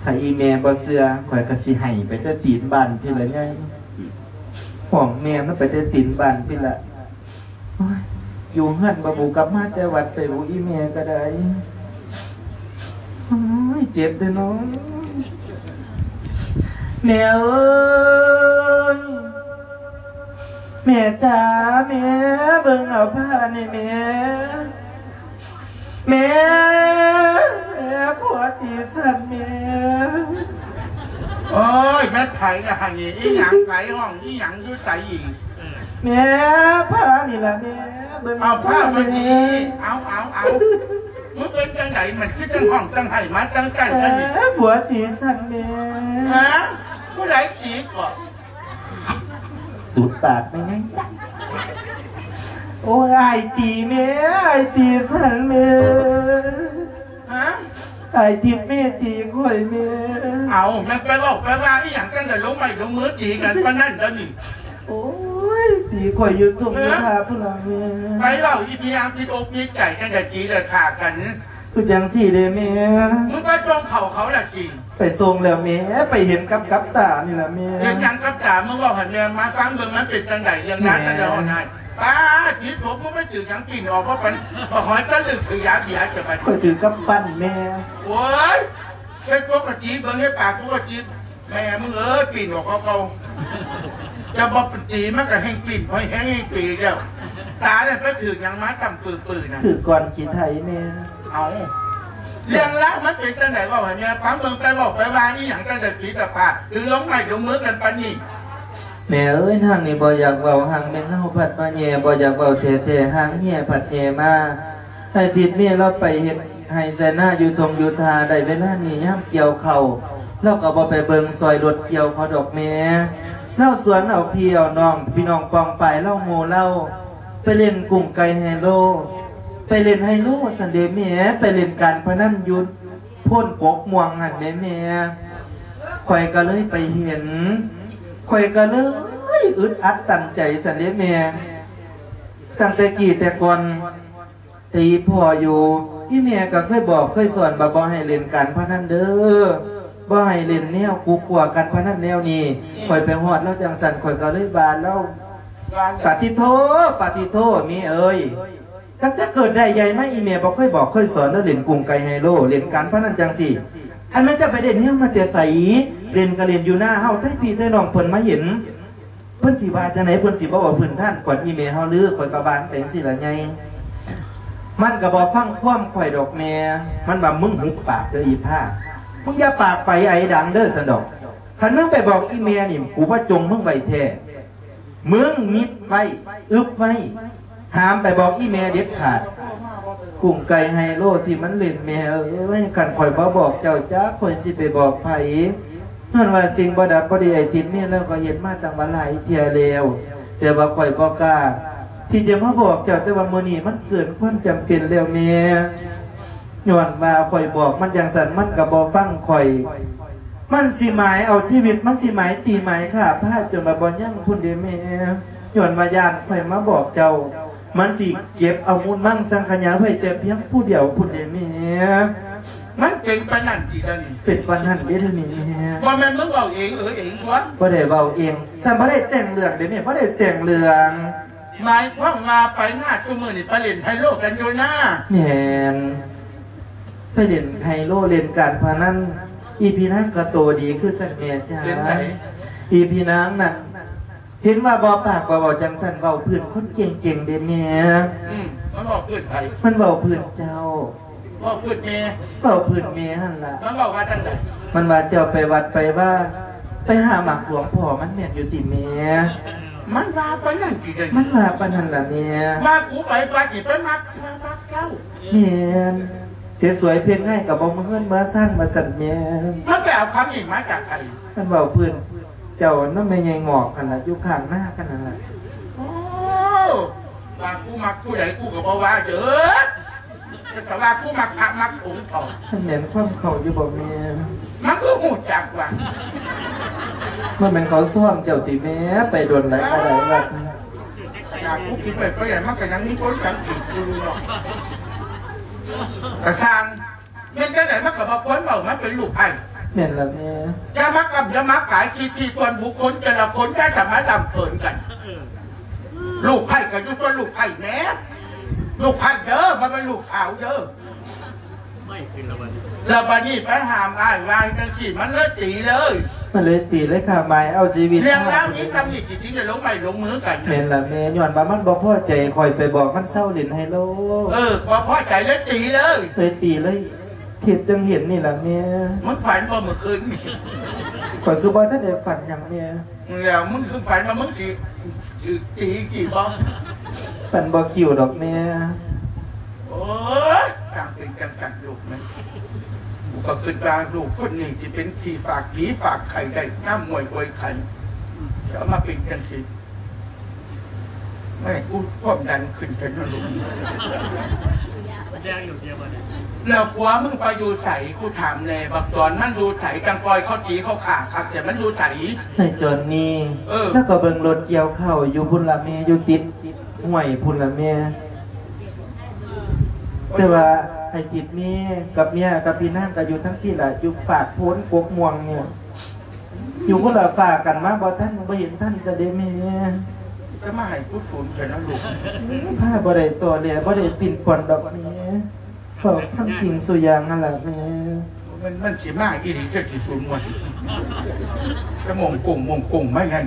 ຖ້າອີແມ່ບໍ່ເຊື່ອ ຂ້ອຍກໍຊິໄຫ້ໄປແຕ່ຕີນບ້ານພີ້ລະໃຫຍ່. ຫ້ອງແມ່ມັນໄປແຕ່ຕີນບ້ານພີ້ລະ. ໂອ້ຍ ຢູ່ເຮືອນບໍ່ບຸກັບມາແຕ່ວັດໄປບຸ ອີແມ່ກໍໄດ້. ໂອ້ຍ ເຈັບແທ້ເນາະ ແມ່ເອີຍ ແມ່ຈ້າ ແມ່ ເບິ່ງເອົາຜ້ານີ້ແມ່ ແມ່ ແມ່ ຜົວຕີສັນແມ່. ໂອ້ຍ ແມ່ນໃຜລະຫັ້ນນີ້? ອີຫຍັງ? ໃຜຮ້ອງອີຫຍັງ? ຢູ່ໃສອີກ? ແມ່ ຜ້ານີ້ລະແມ່ ເບິ່ງ ເອົາຜ້າມານີ້ ເອົາ ເອົາ ເອົາ. ມຶງເປັນຈັ່ງໃດ? ມັນຄືຈັ່ງຮ້ອງຈັ່ງໄຫ້ມາຈັ່ງໃກ້ກັນນີ້. ແມ່ ຜົວຕີສັນແມ່. ຮະ? ຜູ້ໃດຕີເກາະ? ຕູດປາກແມ່ໃຫຍ່. ໂອ້ຍ ອ້າຍຕີແມ່ ອ້າຍຕີສັນແມ່. ຮະ? ອ້າຍທິດເມຕີຂ້ອຍແມ່. ເອົາ ແມ່ນໄປເວົ້າໄປວ່າອີຫຍັງ ຈັ່ງໄດ້ລົງໄມ້ລົງມືຕີກັນປານນັ້ນດຽວນີ້? ໂອ້ຍ ຕີຂ້ອຍຢູ່ທົ່ງຢູ່ທ່າພຸ້ນລະແມ່. ໄປເວົ້າອີ່ຫຍັງຜິດອົກຜິດໃຈ ຈັ່ງໄດ້ຕີໄດ້ຂ້າກັນ? ຄືຈັ່ງຊີ້ເດ້ແມ່. ມຶງໄປສົ່ງເຂົ້າເຂົາລະຕິ? ໄປສົ່ງແລ້ວແມ່ ໄປເຫັນກັບ ກັບຕານີ້ລະແມ່. ເຫັນຫຍັງກັບຕາ? ມຶງເວົ້າໃຫ້ແມ່ມາຟັງເບິ່ງ ມັນເປັນຈັ່ງໃດ ເລື່ອງງານ ແມ່ ກັນດຽວຫັ້ນນະ. ປ້າດ ຕິດສົບ ມຶງໄປຖືກຫຍັງປິ່ນອອກມາປານ ບັກຫອຍຕະລຶກຖືກຢາເບຍ ຈະໄປ. ຂ້ອຍຖືກກຳປັ້ນແມ່. ໂອ້ຍ ເຮັດປົກກະຕິເບິ່ງ ເຮັດປາກປົກກະຕິ. ແມ່ມຶງເອີຍ ປິ່ນອອກເກົ່າໆ. ຈະບໍ່ຕີມັນກໍແຮ່ງປິ່ນ ແຮ່ງ ແຮ່ງປີແລ້ວ. ຕານັ້ນໄປຖືກຫຍັງມາ ຕຳປືໆນະ? ຖືກກ້ອນຂີ້ໄຖແມ່. ເອົາ ເລື່ອງລາວມັນເປັນຈັ່ງໃດ ເວົ້າໃຫ້ແມ່ຟັງເບິ່ງ. ໄປເວົ້າໄປວ່າອີຫຍັງ ຈັ່ງໄດ້ຕີຕາປາດ ຫຼືລົງໄມ້ລົງມືກັນປານນີ້? ແມ່ເອີຍ ນາງນີ້ບໍ່ຢາກເວົ້າ ຫາງແມ່ເຮົາພັດມາແຍ່ ບໍ່ຢາກເວົ້າແທ້ໆ ຫາງແຍ່ພັດແຍ່ມາ. ໃຫ້ທິດເມລາວໄປເຮັດໄຮ່ໄຊນາຢູ່ທົ່ງຢູ່ທ່າ ໄດ້ເວລານີ້ຍາມກ່ຽວເຂົ້າ ລາວກໍບໍ່ໄປເບິ່ງຊ່ອຍລົດກ່ຽວເຂົາດອກແມ່. ລາວຊວນເອົາພີ່ເອົານ້ອງ ພີ່ນ້ອງປ້ອງປາຍລາວ ໝູ່ລາວ ໄປຫຼິ້ນກຸ້ງໄກ່ໄຮໂລ ໄປຫຼິ້ນໄຮໂລຊັ້ນເດແມ່ ໄປຫຼິ້ນການພະນັນຢູ່ໂພນກົກມ່ວງຫັ້ນແໝແມ່. ຂ້ອຍກໍເລີຍໄປເຫັນ ຂ້ອຍກໍເລີຍອຶດອັດຕັນໃຈຊັ້ນເດແມ່. ຕັ້ງແຕ່ກີ້ແຕ່ກ່ອນ ຕີພໍ່ຢູ່ ອີ່ແມ່ກໍເຄີຍບອກເຄີຍສອນວ່າບໍ່ໃຫ້ຫຼິ້ນການພະນັນເດີ ບໍ່ໃຫ້ຫຼິ້ນແນວກຸກກົວການພະນັນແນວນີ້. ຂ້ອຍໄປຮອດລາວຈັ່ງຊັ້ນ ຂ້ອຍກໍເລີຍວ່າລາວ ປາຕິໂທ ປາຕິໂທ ແມ່ເອີຍ ຕັ້ງແຕ່ເກີດໄດ້ໃຫຍ່ມາ ອີ່ແມ່ບໍ່ເຄີຍບອກເຄີຍສອນເດີ ຫຼິ້ນກຸ້ງໄກ່ໄຮໂລ ຫຼິ້ນການພະນັນຈັ່ງຊີ້. ອັນແມ່ນເຈົ້າໄປໄດ້ແນວມາແຕ່ໃສ? ຫຼິ້ນກໍຫຼິ້ນຢູ່ນາເຮົາ ໄທພີ່ໄທນ້ອງເພິ່ນມາເຫັນ ເພິ່ນຊິວ່າຈັ່ງໃດ? ເພິ່ນຊິບໍ່ເວົ້າພື້ນຖານກວນອີ່ແມ່ເຮົາຫຼື? ຂ້ອຍກໍວ່າໄປຈັ່ງຊີ້ລະໃຫຍ່. ມັນກໍບໍ່ຟັງຄວາມຂ້ອຍດອກແມ່. ມັນວ່າ ມຶງຫຸບປາກເດີອີ່ພ້າ ມຶງຢ່າປາກໄປໄອດັງເດີຊັ້ນດອກ. ຄັນມຶງໄປບອກອີ່ແມ່ນີ້ ກູວ່າຈົ່ງມຶງໄວ້ແທ້. ມຶງມິດໄວ້ ອຶບໄວ້ ຫ້າມໄປບອກອີ່ແມ່ເດັດຂາດ. ກຸ້ງໄກ່ໄຮໂລທີ່ມັນຫຼິ້ນ ແມ່ເອີຍ ຄັນຂ້ອຍບໍ່ບອກເຈົ້າ ຈັກຂ້ອຍຊິໄປບອກໃຜ. ຍ້ອນວ່າສິ່ງບໍ່ດັບບໍ່ດີ ໄອ້ຕິດເມຍລາວກໍເຮັດມາຕັ້ງວ່າຫຼາຍເທື່ອແລ້ວ ແຕ່ວ່າຂ້ອຍບໍ່ກ້າທີ່ຈະມາບອກເຈົ້າ ແຕ່ວ່າມື້ນີ້ມັນເກີນຄວາມຈຳເປັນແລ້ວແມ່. ຍ້ອນວ່າຂ້ອຍບອກມັນຈັ່ງຊັ້ນ ມັນກໍບໍ່ຟັງຂ້ອຍ. ມັນຊິໝາຍເອົາຊີວິດ ມັນຊິໝາຍຕີໝາຍຂ້າພາດຈົນວ່າບໍ່ຍັງພຸ້ນເດແມ່. ຍ້ອນວ່າຢ້ານຂ້ອຍມາບອກເຈົ້າ ມັນຊິເກັບເອົາມູນມັງສັງຂະຫຍາໄວ້ແຕ່ພຽງຜູ້ດຽວພຸ້ນເດແມ່. ມັນເປັນປານນັ້ນຕິດຽວນີ້? ເປັນປານນັ້ນເດ້ດຽວນີ້ແມ່. ບໍ່ແມ່ນມຶງເວົ້າເອງເອີເອງຕົວະ? ບໍ່ໄດ້ເວົ້າເອງ. ຊັ້ນບໍ່ໄດ້ແຕ່ງເລື່ອງເດ້ແມ່ ບໍ່ໄດ້ແຕ່ງເລື່ອງ. ໝາຍຄວາມວ່າໄປນາຊຸມື້ນີ້ໄປຫຼິ້ນໄຮໂລກັນຢູ່ນາ? ແມ່ນ ໄປຫຼິ້ນໄຮໂລ ຫຼິ້ນການພະນັນ. ອີ່ພີ່ນາງກໍໂຕດີຄືກັນແມ່ຈ້າ. ເປັນໃດ? ອີ່ພີ່ນາງນັ້ນ ເຫັນວ່າບໍ່ປາກບໍ່ເວົ້າຈັ່ງຊັ້ນ ເວົ້າພື້ນຄົນເກັ່ງໆເດ້ແມ່. ອືມ ມັນເວົ້າພື້ນໃຜ? ມັນເວົ້າພື້ນເຈົ້າ. ເວົ້າພື້ນແມ່? ເວົ້າພື້ນແມ່ຫັ້ນລະ. ມັນເວົ້າວ່າຈັ່ງໃດ? ມັນວ່າເຈົ້າໄປວັດໄປວາ ໄປຫາໝາກຫຼວງພໍ່ມັນແມ່ນຢູ່ຕິແມ່? ມັນວ່າປານນັ້ນຕິເດ? ມັນວ່າປານນັ້ນລະແມ່. ວ່າກູໄປວັດນີ້ໄປມັກ ມັກເຈົ້າ. ແມ່ນ. ເສຍສວຍເພັງໃຫ້ກໍບໍ່ມີເຮືອນເມືອຊານວ່າຊັ້ນແມ່. ມັນໄປເອົາຄຳນີ້ມາຈາກໃສ? ມັນເວົ້າພື້ນເຈົ້ານຳແມ່ໃຫຍ່ງອກຫັ້ນລະ ຢູ່ຂ້າງນາກັນຫັ້ນລະ. ໂອ້ ວ່າກູມັກຜູ້ໃດກູກໍບໍ່ວ່າເດີ ແຕ່ວ່າກູມັກພະມັກສົງເທາະ. ມັນແມ່ນຄວາມເຂົາຢູ່ບໍ່ແມ່? ມັນຄືຮູ້ຈັກວ່າ ບໍ່ແມ່ນເຂົາຊ້ອມເຈົ້າຕິແມ່? ໄປດົນຫຼາຍກໍໄດ້ວັດ. ຢາກກູຄິດໄປ ໄປໃດມັນກໍຍັງມີຄົນສັງເກດກູຢູ່ເນາະ. ກະຊ່າງ ແມ່ນຈັ່ງໃດມັນກໍບໍ່ຄວນເວົ້າ ມັນເປັນລູກໃຜ. ແມ່ນລະແມ່. ຢ່າມາກຳ ຢ່າມາກາຍສິດທິສ່ວນບຸກຄົນແຕ່ລະຄົນ ຢ່າຈະມາລຳເກີນກັນ. ລູກໃຜກໍຢູ່ສ່ວນລູກໃຜແມ່. ລູກໃຜເດີ ບໍ່ແມ່ນລູກສາວເດີ. ແລ້ວບາດນີ້ໄປຫ້າມອ້າຍວ່າຈັ່ງຊີ້ ມັນເລີຍຕີເລີຍ. ມັນເລີຍຕີເລີຍ ຂ້າໝາຍເອົາຊີວິດ. ເລື່ອງລາວນີ້ຊ່ຳນີ້ ຊິໄດ້ລົງໄມ້ລົງມືກັນ. ແມ່ນລະແມ່. ຍ້ອນວ່າມັນບໍ່ພໍໃຈ ຂ້ອຍໄປບອກມັນເຊົາຫຼິ້ນໄຮໂລ. ເອີ ບໍ່ພໍໃຈເລີຍຕີເລີຍ. ເລີຍຕີເລີຍ. ທິດຈັ່ງເຫັນນີ້ລະແມ່. ມຶງຝັນບໍ່ມື້ຄືນນີ້? ຂ້ອຍຄືບໍ່ທັນໄດ້ຝັນຫຍັງແມ່. ແລ້ວມຶງຄືຝັນວ່າມຶງຊິຖືກຕີອີກຕິບໍ່? ຝັນບໍ່ຄິວດອກແມ່. ໂອ້ຍ ຈັ່ງເປັນຈັ່ງຊັ້ນລູກມັນ. ກູກໍຄິດວ່າລູກຄົນນີ້ຊິເປັນທີ່ຝາກຜີຝາກໄຂ້ໄດ້ ຍາມມວຍອວຍໄຂ້ ຊິເອົາມາເປັນຈັ່ງຊີ້. ແມ່ ກູຄວາມດັນຂຶ້ນແທ້ເນາະລູກ. ແລ້ວຜົວມຶງໄປຢູ່ໃສ? ກູຖາມແດ່ ບັກຈອນມັນຢູ່ໃສ? ຈັ່ງປ່ອຍເຂົາຕີເຂົາຂ້າຄັກແທ້ ມັນຢູ່ໃສ? ໃນຈອນນີ້ ເອີ ລາວກໍເບິ່ງລົດກ່ຽວເຂົ້າຢູ່ພຸ້ນລະແມ່ ຢູ່ຕິດຫ້ວຍພຸ້ນລະແມ່. ແຕ່ວ່າໄອ້ຕິດເມກັບເມຍກັບພີ່ນາງກໍຢູ່ທາງພີ້ລະ ຢູ່ຟາກໂພນກົກມ່ວງນີ້. ຢູ່ຄົນລະຟາກກັນມາ ບໍ່ທັນ ບໍ່ເຫັນທັນຊະເດແມ່. ຈະມາໃຫ້ກູສູນແທ້ນະລູກ. ພາບໍ່ໄດ້ຕໍ່ແຫຼ ບໍ່ໄດ້ປິ່ນປ່ອນດອກແມ່. ເວົ້າຄວາມຈິງສູ່ຢ່າງຫັ້ນລະແມ່. ມັນ ມັນຊິມາອີ່ຫຼີ ຈັກຊິສູນວ່າ ສະໝົງກົງໝົງກົງມາຫຍັງ.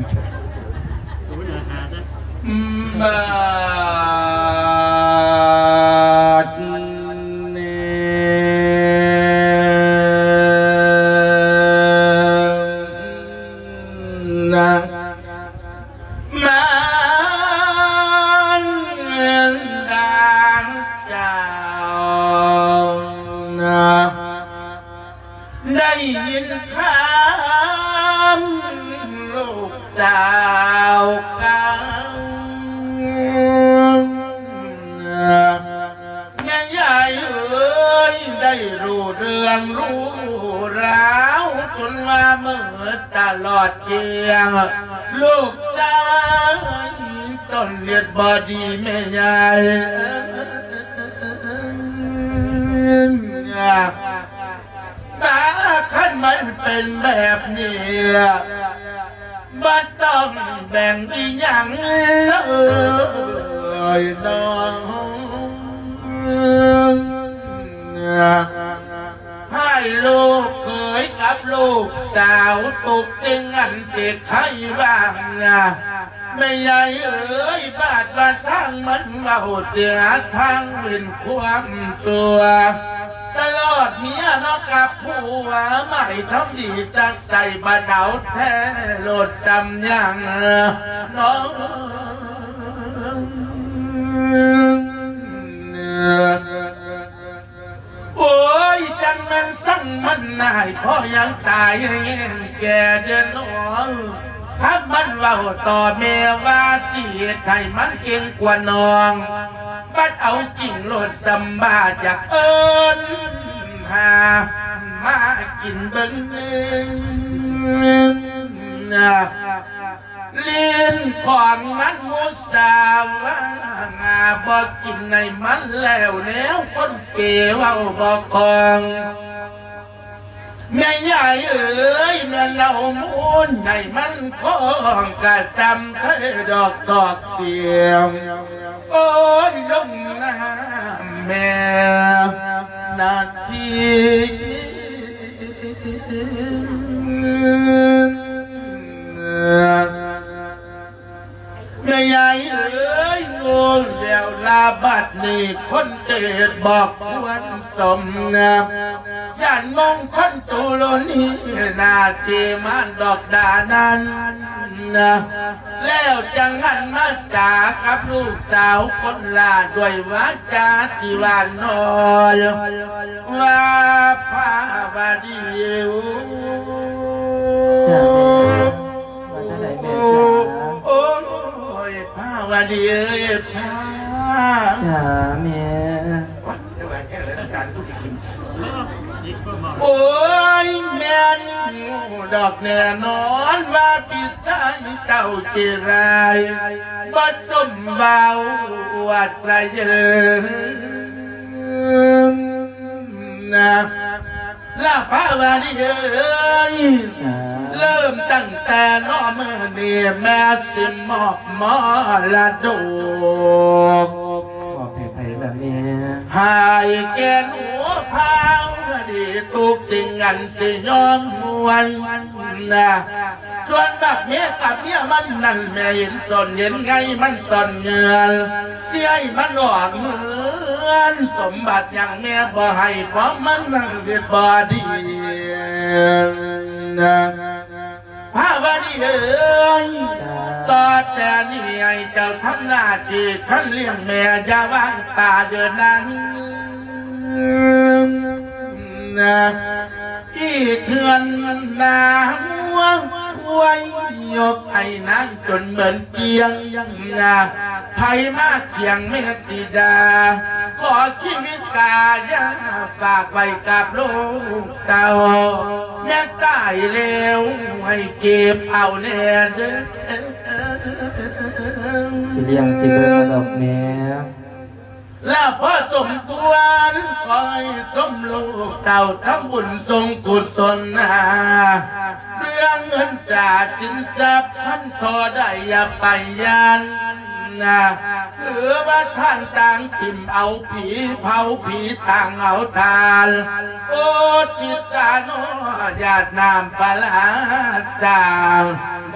ບາດນີ້ນະ ມານດາເຈົ້ານະ ໄດ້ຍິນຂ່າວ ຕະຫຼອດກຽງ ລູກຊາຍຕົນເຮັດບໍ່ດີແມ່ຍາຍ ຖ້າຄັນມັນເປັນແບບນີ້ ບໍ່ຕ້ອງແບ່ງອີ່ຫຍັງເລີຍນ້ອງ ໃຫ້ລູກເຂີຍກັບລູກສາວທຸກສິ່ງອັນຊິໄຂຫວັງ ແມ່ຍາຍເອີຍ ບາດວ່າທາງມັນເວົ້າເສຍທາງເປັນຄວາມຊົ່ວ ຕະຫຼອດເມຍເນາະກັບຜົວ ໝາຍທຳດີຕັກໃສ່ບໍ່ເອົາແທ້ໂລດສ່ຳຫຍັງນ້ອງ ໂອ້ຍ ຈັ່ງແມ່ນສັງມັນນາຍ ພໍຍັງຕາຍແຮງແກ່ເດີນ້ອງ ຖ້າມັນເວົ້າຕໍ່ແມ່ວ່າຊິເຮັດໃຫ້ມັນເກັ່ງກວ່ານ້ອງ ບັດເອົາຈິງໂລດສ່ຳບາດຢາກເອີ້ນຫາມາກິນເບິ່ງ ຫຼິ້ນຂອງມັນມຸສາວ່າ ບໍ່ກິນໃຫ້ມັນແລ້ວແນວຄົນເກເວົ້າບໍ່ຄອງ ແມ່ຍາຍເອີຍ ແມ່ນເອົາມູນໃຫ້ມັນຄອງ ກະຈຳເທດອກຕອກຕຽມ ໂອ້ຍ ລົງນ້ຳແມ່ນາທີ ແມ່ຍາຍເອີຍ ໂງ່ແລ້ວລາ ບັດນີ້ຄົນເຕດບໍ່ຄວນສົມນາ ຢ້ານມອງຄົນຕຸໂລນີ ໜ້າທີ່ມານດອກດານັ້ນນະ ແລ້ວຈັ່ງຫັນມາຈາກັບລູກສາວຄົນຫຼ້າ ດ້ວຍວາຈາທີ່ຫວານນ້ອຍ ວ່າພາວະດີ ໂອ້ ຈ້າແມ່ ວ່າຈັ່ງໃດແມ່ ໂອ້ ຈ້າ ໂອ້ຍ ພາວະດີເອີຍ ພາ ຈ້າແມ່ ໂອ້ຍ ແມ່ນດອກແນ່ນອນວ່າພີ່ຊາຍເຈົ້າເຈລາຍ ບໍ່ສົມເວົ້າອວດລະເຢິນນະ ລະພາວະດີເອີຍ ຈ້າ ເລີ່ມຕັ້ງແຕ່ນອມື້ນີ້ ແມ່ຊິມອບມໍລະດົກ ມອບໃຫ້ໃຜລະແມ່ ໃຫ້ແກ່ໜູພາວະດີ ທຸກສິ່ງອັນຊິຍອມຫວນນະ ສ່ວນບັກເມຍກັບເມຍມັນນັ້ນ ແມ່ເຫັນສົນເຫັນໄງມັນສ້ອນເງື່ອນ ຊິໃຫ້ມັນອອກເຮືອນ ສົມບັດຫຍັງແມ່ບໍ່ໃຫ້ ເພາະມັນນັ້ນເຮັດບໍ່ດີນະ ພາວະດີເອີຍ ຕໍ່ແຕ່ນີ້ໃຫ້ເຈົ້າທຳໜ້າທີ່ຄັນລ້ຽງແມ່ ຢ່າວາງປາເດີນາງນະ ອີກເຮືອນນາງົວຄວາຍ ຍົກໃຫ້ນາງຈົນເໝິນກຽງນະ ໃຜມາຖຽງແມ່ຊິດ່າ ຂໍຊີວິດກາຢ່າຝາກໄວ້ກັບລູກເຕົ້າ ແມ່ຕາຍແລ້ວໃຫ້ເກັບເອົາແນ່ເດີ ຊິລ້ຽງຊິເບິ່ງດອກແມ່ ລະພໍສົມຄວນ ຂໍໃຫ້ສົມລູກເຕົ້າ ທຳບຸນສົງກຸສົນນາ ເລື່ອງເງິນຕາສິນຊັບ ຄັນທໍ່ໄດ້ຢ່າໄປຢ້ານນະ ຄືວ່າທ່ານຕ່າງຖິ້ມເອົາຜີເຜົາ ຜີຕ່າງເອົາທານ ໂອ ຕິດສານອ ຢາດນ້ຳປາລາ ຈາງ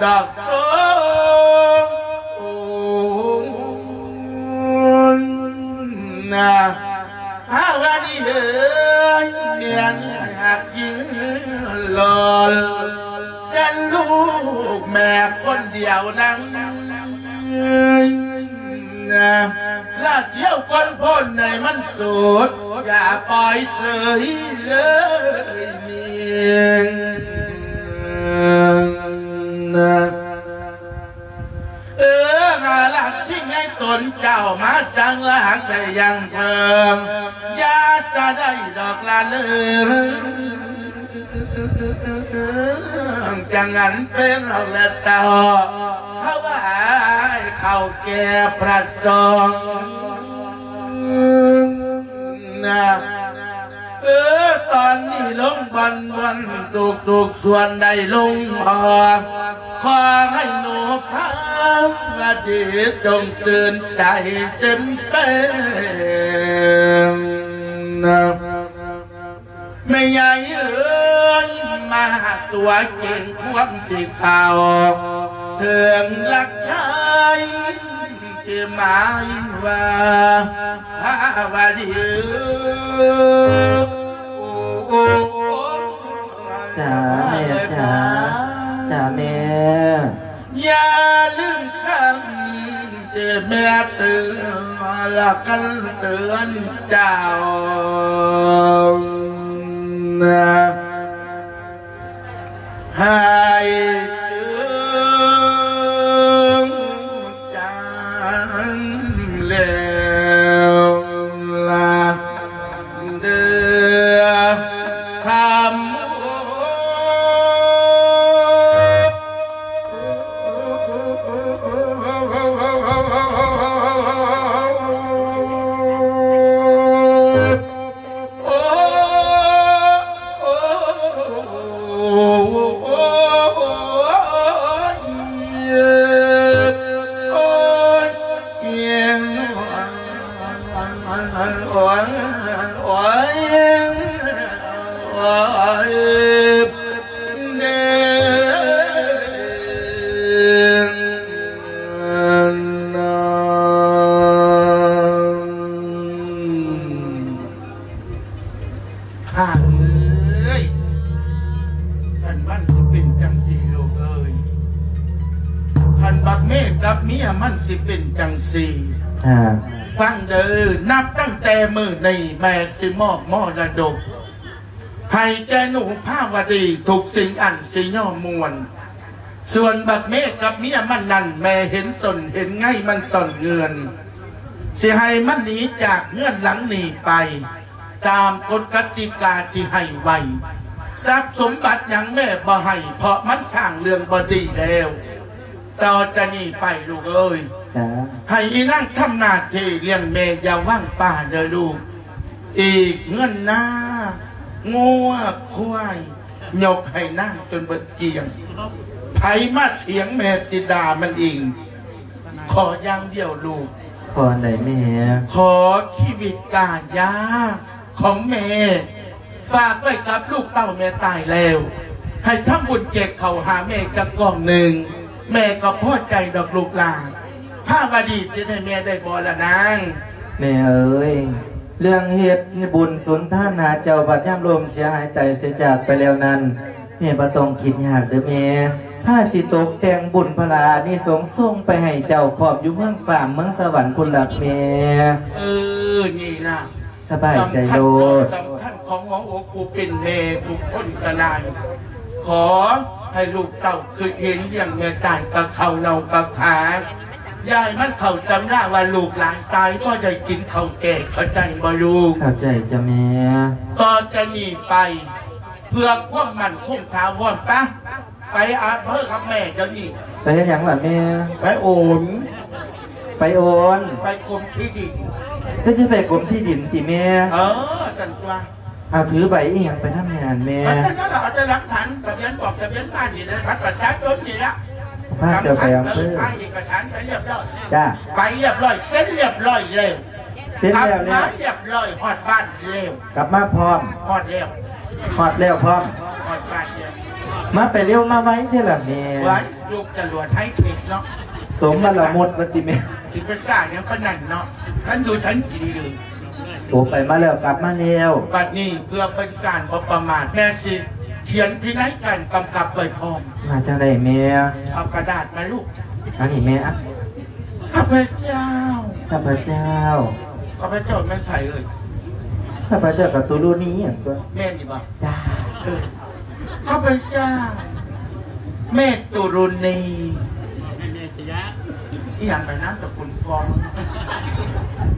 ດອກໂຊ ນະ ພາວະດີເອີຍ ແມ່ນຮັກຍິ່ງຫຼອນ ແຕ່ລູກແມ່ຄົນດຽວນັ້ນນະ ລະທ່ຽວຄົນພົ້ນໃຫ້ມັນໂສດ ຢ່າປ່ອຍເສີຍເລີຍນີ້ນະ. ເອີ ຫາຫຼັກພິງໃຫ້ຕົນເຈົ້າມາສັງ ລະຫາກໄດ້ຍັງເພິ່ງ ຢ່າຈະໄດ້ດອກລະເລີງ ຈັ່ງນັ້ນເປັນແລ້ວແຕ່ ຖວາຍເຂົ້າແກ່ພະສົງນະ. ເອີ ຕອນນີ້ລົງບ່ອນມ່ວນ ທຸກໆສ່ວນໄດ້ລົງ ຂໍໃຫ້ໜູພາວະດີຈົ່ງຊື່ນໃຈເຕັມເປັມນະ. ແມ່ໃຫຍ່ເອີຍ ມາຕົວເກັ່ງຄວາມຊິເຂົ້າເຖິງລັກຊາຍ ທີ່ໝາຍວ່າພາວະດີເອີຍ. ໂອ້ ໂອ້ ໂອ້ ຈ້າແມ່ຈ້າ ຈ້າແມ່ ຢ່າລືມຄຳທີ່ແມ່ເຕືອນ ແລະ ກັນເຕືອນເຈົ້ານະ ໃຫ້ເຖິງຈັງແລ້ວລະເດີຄຳ. ຂ້າເອີຍ ຄັນມັນຊິເປັນຈັ່ງຊີ້ລູກເອີຍ ຄັນບັກເມກັບເມຍມັນຊິເປັນຈັ່ງຊີ້ ອ່າ ຟັງເດີ ນັບຕັ້ງແຕ່ມື້ນີ້ແມ່ຊິມອບມໍລະດົກໃຫ້ແກ່ໜູພາວະດີທຸກສິ່ງອັນຊິຍໍມ່ວນ. ສ່ວນບັກເມກັບເມຍມັນນັ້ນ ແມ່ເຫັນຕົ້ນເຫັນໄງມັນສ້ອນເງື່ອນ ຊິໃຫ້ມັນໜີຈາກເຮືອນຫຼັງນີ້ໄປ ຕາມກົດກະຕິກາທີ່ໃຫ້ໄວ້. ຊັບສົມບັດຫຍັງແມ່ບໍ່ໃຫ້ ເພາະມັນສ້າງເລື່ອງບໍ່ດີແລ້ວ. ຕໍ່ຈາກນີ້ໄປລູກເອີຍ ຈ້າ ໃຫ້ອີນາງທຳໜ້າທີ່ລ້ຽງແມ່ ຢ່າວາງປະເດີລູກ. ອີກເຮືອນນາ ງົວ ຄວາຍ ຍົກໃຫ້ນາງຈົນເບິດກ້ຽງ. ໃຜມາຖຽງແມ່ຊິດ່າມັນອີງ. ຂໍຢ່າງດຽວລູກ. ຂໍອັນໃດແມ່? ຂໍຊີວິດກາຍາຂອງແມ່ ຝາກໄວ້ກັບລູກເຕົ້າແມ່ຕາຍແລ້ວ ໃຫ້ທຳບຸນແຈກເຂົ້າຫາແມ່ຈັກກ້ອງໜຶ່ງ ແມ່ກໍພໍໃຈດອກລູກຫຼານ. ພາວະດີຊິໃຫ້ແມ່ໄດ້ບໍ່ລະນາງ? ແມ່ເອີຍ ເລື່ອງເຮັດບຸນສຸນທານຫາເຈົ້າ ບັດຍາມລົ້ມເສຍຫາຍຕາຍເສຍຈາກໄປແລ້ວນັ້ນ ແມ່ບໍ່ຕ້ອງຄິດຍາກເດີແມ່. ພາຊິຕົກແຕ່ງບຸນພະລາອານິສົງສົ່ງໄປໃຫ້ເຈົ້າ ພ້ອມຢູ່ເມືອງຟ້າເມືອງສະຫວັນພຸ້ນລະແມ່. ເອີ ນີ້ລະ ສະບາຍໃຈໂລດ ສຳຄັນຂອງຫົວອົກຜູ້ເປັນແມ່ທຸກຄົນກໍໄດ້. ຂໍໃຫ້ລູກເຕົ້າຄິດເຫັນລ້ຽງແມ່ຕາຍກະເຂົ້າເນົ່າກະຂາ ຢ່າໃຫ້ມັນເຂົ້າຕຳລາວ່າລູກຫຼານຕາຍບໍ່ໄດ້ກິນເຂົ້າແກ່ ເຂົ້າໃຈບໍ່ລູກ? ເຂົ້າໃຈຈົ້າແມ່. ຕໍ່ຈາກນີ້ໄປ ເພື່ອຄວາມໝັ້ນຄົງຖາວອນ ປະ ໄປອຳເພີກັບແມ່ດຽວນີ້. ໄປເຮັດຫຍັງລະແມ່? ໄປໂອນ ໄປໂອນ ໄປກົມທີ່ດິນ. ຄືຊິໄປກົມທີ່ດິນຕິແມ່? ເອີ ຈັ່ງຕົວະ. ເອົາ ຖືໃບອີ່ຫຍັງໄປນຳແດ່ຫັ້ນແມ່? ມັນຈັ່ງນັ້ນລະ ເອົາແຕ່ຫຼັກຖານທະບຽນບອກທະບຽນບ້ານນີ້ລະ ບັດປະຊາຊົນນີ້ລະ. ພາເຈົ້າໄປອຳເພີ ສຳຄັນ ເອີ ຖ່າຍເອກະສານໄປລຽບຮ້ອຍ. ຈ້າ ໄປລຽບຮ້ອຍ ເຊັນລຽບຮ້ອຍແລ້ວ. ເຊັນແລ້ວ ກັບມາລຽບຮ້ອຍ ຮອດບ້ານແລ້ວ. ກັບມາພ້ອມ. ຮອດແລ້ວ. ຮອດແລ້ວພ້ອມ. ຮອດບ້ານແລ້ວ. ມາໄປເລັວມາໄວແທ້ລະແມ່. ໄວ ຍົກຈະຫຼວດໄຮເທັກເນາະ. ສົມມະລະມຸດວ່າຕິແມ່. ຊິໄປສ້າຫຍັງປານນັ້ນເນາະ. ທັນຢູ່ທັນກິນຢູ່. ໂອ ໄປມາແລ້ວ ກັບມາແລ້ວ. ບັດນີ້ເພື່ອເປັນການບໍ່ປະໝາດ ແມ່ຊິຂຽນພິໄນການກຳກັບໄວ້ພ້ອມ. ມາຈັ່ງໃດແມ່? ເອົາກະດາດມາລູກ. ອັນນີ້ແມ່ ອະ ຂ້າພະເຈົ້າ. ຂ້າພະເຈົ້າ. ຂ້າພະເຈົ້າແມ່ນໃຜເອີຍ? ຂ້າພະເຈົ້າກະຕຸລຸນີຫັ້ນຕົວະ. ແມ່ນຢູ່ບໍ່? ຈ້າ. ເອີ ຂ້າພະເຈົ້າ ແມ່ຕຸລຸນີ. ອີ່ຫຍັງກະນາມສະກຸນພໍ່.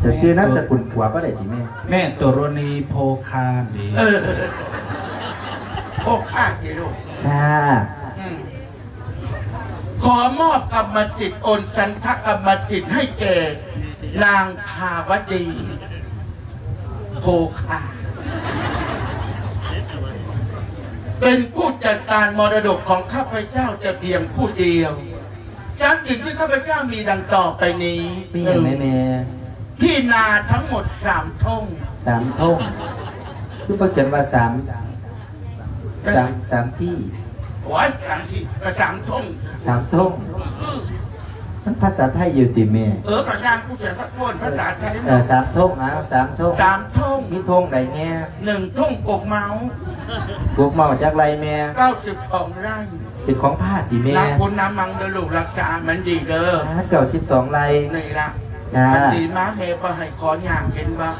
ຈະຈື່ນາມສະກຸນຜົວບໍ່ໄດ້ຕິແມ່? ແມ່ຕຸລຸນີໂພຄານເດ. ເອີ ໂພຄານຕິລູກ. ຈ້າ. ອືມ. ຂໍມອບກຳມະສິດ ໂອນສັນທະກຳມະສິດໃຫ້ແກ່ນາງພາວະດີ ໂຄຄາ ເປັນຜູ້ຈັດການມໍລະດົກຂອງຂ້າພະເຈົ້າແຕ່ພຽງຜູ້ດຽວ. ຊັບສິນທີ່ຂ້າພະເຈົ້າມີດັ່ງຕໍ່ໄປນີ້. ມີຫຍັງແດ່ແມ່? ທີ່ນາທັງໝົດສາມທົ່ງ. ສາມທົ່ງ? ຄືບໍ່ຂຽນວ່າສາມ ສາມ ສາມທີ່? ໂອ້ຍ ສາມທີ່ ກໍສາມທົ່ງ. ສາມທົ່ງ? ອື ມັນພາສາໄທຢູ່ຕິແມ່? ເອີ ກໍຊ່າງ ກູຂຽນພາສາໄທ. ເອີ ສາມທົ່ງ ເອົາ ສາມທົ່ງ. ສາມທົ່ງ. ມີທົ່ງໃດແດ່? ໜຶ່ງທົ່ງກົກເມົາ. ກົກເມົາຈັກໄຮ່ແມ່? ເກົ້າສິບສອງໄຮ່. ເປັນຂອງພາຕິແມ່? ລັກຄຸນນຳມັງເດີລູກ ລັກສາມັນດີເດີ. ເກົ້າສິບສອງໄຮ່. ນີ້ລະ. ຈ້າ. ຄັນດີມາແມ່ບໍ່ໃຫ້ຂໍຍ່າງເຫັນບໍ່?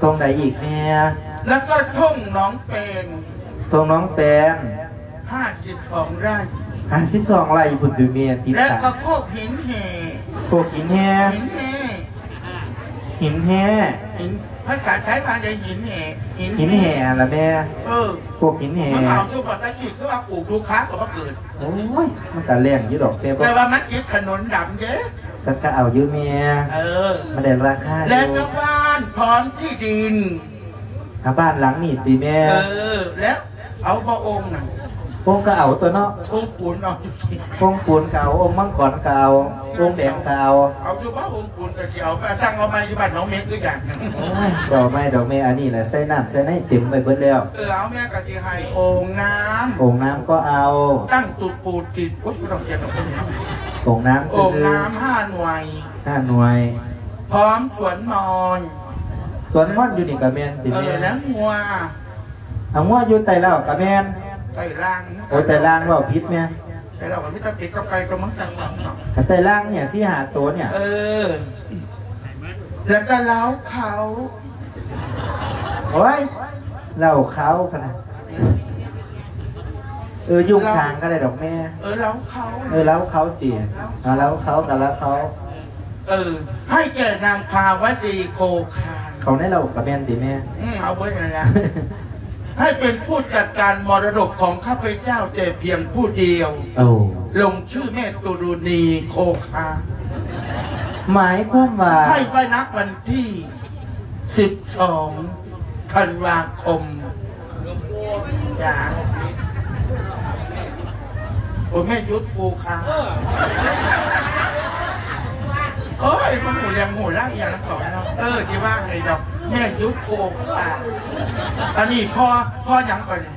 ທົ່ງໃດອີກແມ່? ແລ້ວກໍທົ່ງໜອງແປງ. ທົ່ງໜອງແປງ. ຫ້າສິບສອງໄຮ່. ຫ້າສິບສອງໄຮ່ພຸ້ນຕິແມ່? ຕິດ ແລ້ວກໍໂຄກຫີນແຫ່. ໂຄກຫີນແຫ່? ຫີນແຫ່. ຫີນແຫ່. ຫີນ ພາສາໄທວ່າໄດ້ຫີນແຫ່. ຫີນ ຫີນແຫ່ລະແມ່? ເອີ ໂຄກຫີນແຫ່. ມັນເອົາຢູ່ບໍ່? ແຕ່ກີ້ຄືວ່າປູກລູກຄ້າກໍບໍ່ເກີດ. ໂອ້ຍ ມັນກະແລ້ງຢູ່ດອກ ແຕ່ບໍ່ ແຕ່ວ່າມັນຕິດຖະໜົນດຳເດ້. ສັນກະເອົາຢູ່ແມ່. ເອີ ມັນໄດ້ລາຄາຢູ່. ແລ້ວກໍບ້ານ ພ້ອມທີ່ດິນ. ອາ ບ້ານຫຼັງນີ້ຕິແມ່? ເອີ ແລ້ວເອົາບໍ່ໂອ່ງນະ? ໂອ່ງກໍເອົາຕົວເນາະ. ໂອ່ງປູນເອົາ. ໂອ່ງປູນກໍເອົາ ໂອ່ງມັງກອນກໍເອົາ ໂອ່ງແດງກໍເອົາ. ເອົາຢູ່ບໍ່ໂອ່ງປູນ? ກໍຊິເອົາໄປ ສັ່ງເອົາໃໝ່ຢູ່ບ້ານໜອງເມັກຄືກັນ. ໂອ້ຍ ບໍ່ເອົາໃໝ່ດອກແມ່ ອັນນີ້ລະໃສ່ນ້ຳໃສ່ໃນເຕັມໄວ້ເບິດແລ້ວ. ເອີ ເອົາ ແມ່ກໍຊິໃຫ້ໂອ່ງນ້ຳ. ໂອ່ງນ້ຳກໍເອົາ. ຕັ້ງຕຸດປູດຕິດ ໂອ້ຍ ບໍ່ຕ້ອງຂຽນດອກ. ໂອ່ງນ້ຳ ໂອ່ງນ້ຳຫ້າໜ່ວຍ. ຫ້າໜ່ວຍ. ພ້ອມສວນມອນ. ສວນມອນຢູ່ນີ້ກໍແມ່ນຕິແມ່? ເອີ ແລ້ວງົວ ເອົາ ງົວຢູ່ໃຕ້ເລົ້າກໍແມ່ນ. ໃຕ້ລ່າງ. ໂອ້ຍ ໃຕ້ລ່າງເວົ້າຜິດແມ່. ໃຕ້ເລົ້າກໍມີແຕ່ເປັດກັບໄກ່ ກໍມັນຈັ່ງວ່າເນາະ. ໃຕ້ລ່າງນີ້ ສີ່ຫ້າໂຕນີ້. ເອີ ແລ້ວກໍເລົ້າເຂົ້າ. ໂອ້ຍ ເລົ້າເຂົ້າພະນະ. ເອີ ຍຸງສາງກໍໄດ້ດອກແມ່. ເອີ ເລົ້າເຂົ້າ. ເອີ ເລົ້າເຂົ້າຕິ. ເອົາ ເລົ້າເຂົ້າກໍເລົ້າເຂົ້າ. ເອີ ໃຫ້ແກ່ນາງພາວະດີໂຄຄາ. ເຂົ້າໃນເລົ້າກໍແມ່ນຕິແມ່? ອືມ ເອົາເບິດນັ້ນລະ. ໃຫ້ເປັນຜູ້ຈັດການມໍລະດົກຂອງຂ້າພະເຈົ້າແຕ່ພຽງຜູ້ດຽວ. ໂອ້ ລົງຊື່ແມ່ຕຸລຸນີໂຄຄາ. ໝາຍຄວາມວ່າ ໃຫ້ໄວ້ນັບວັນທີສິບສອງທັນວາຄົມ. ຈ້າ. ໂອ້ຍ ແມ່ຢຸດໂຄຄາ. ໂອ້ຍ ມາຮູ້ເລື່ອງຮູ້ລາວອີ່ຫຍັງນຳເຂົາເນາະ. ເອີ ຊິວ່າໃຫ້ດອກ ແມ່ຢຸດໂຄຄາ. ອັນນີ້ພໍ່ ພໍ່ຫຍັງກ່ອນນີ້?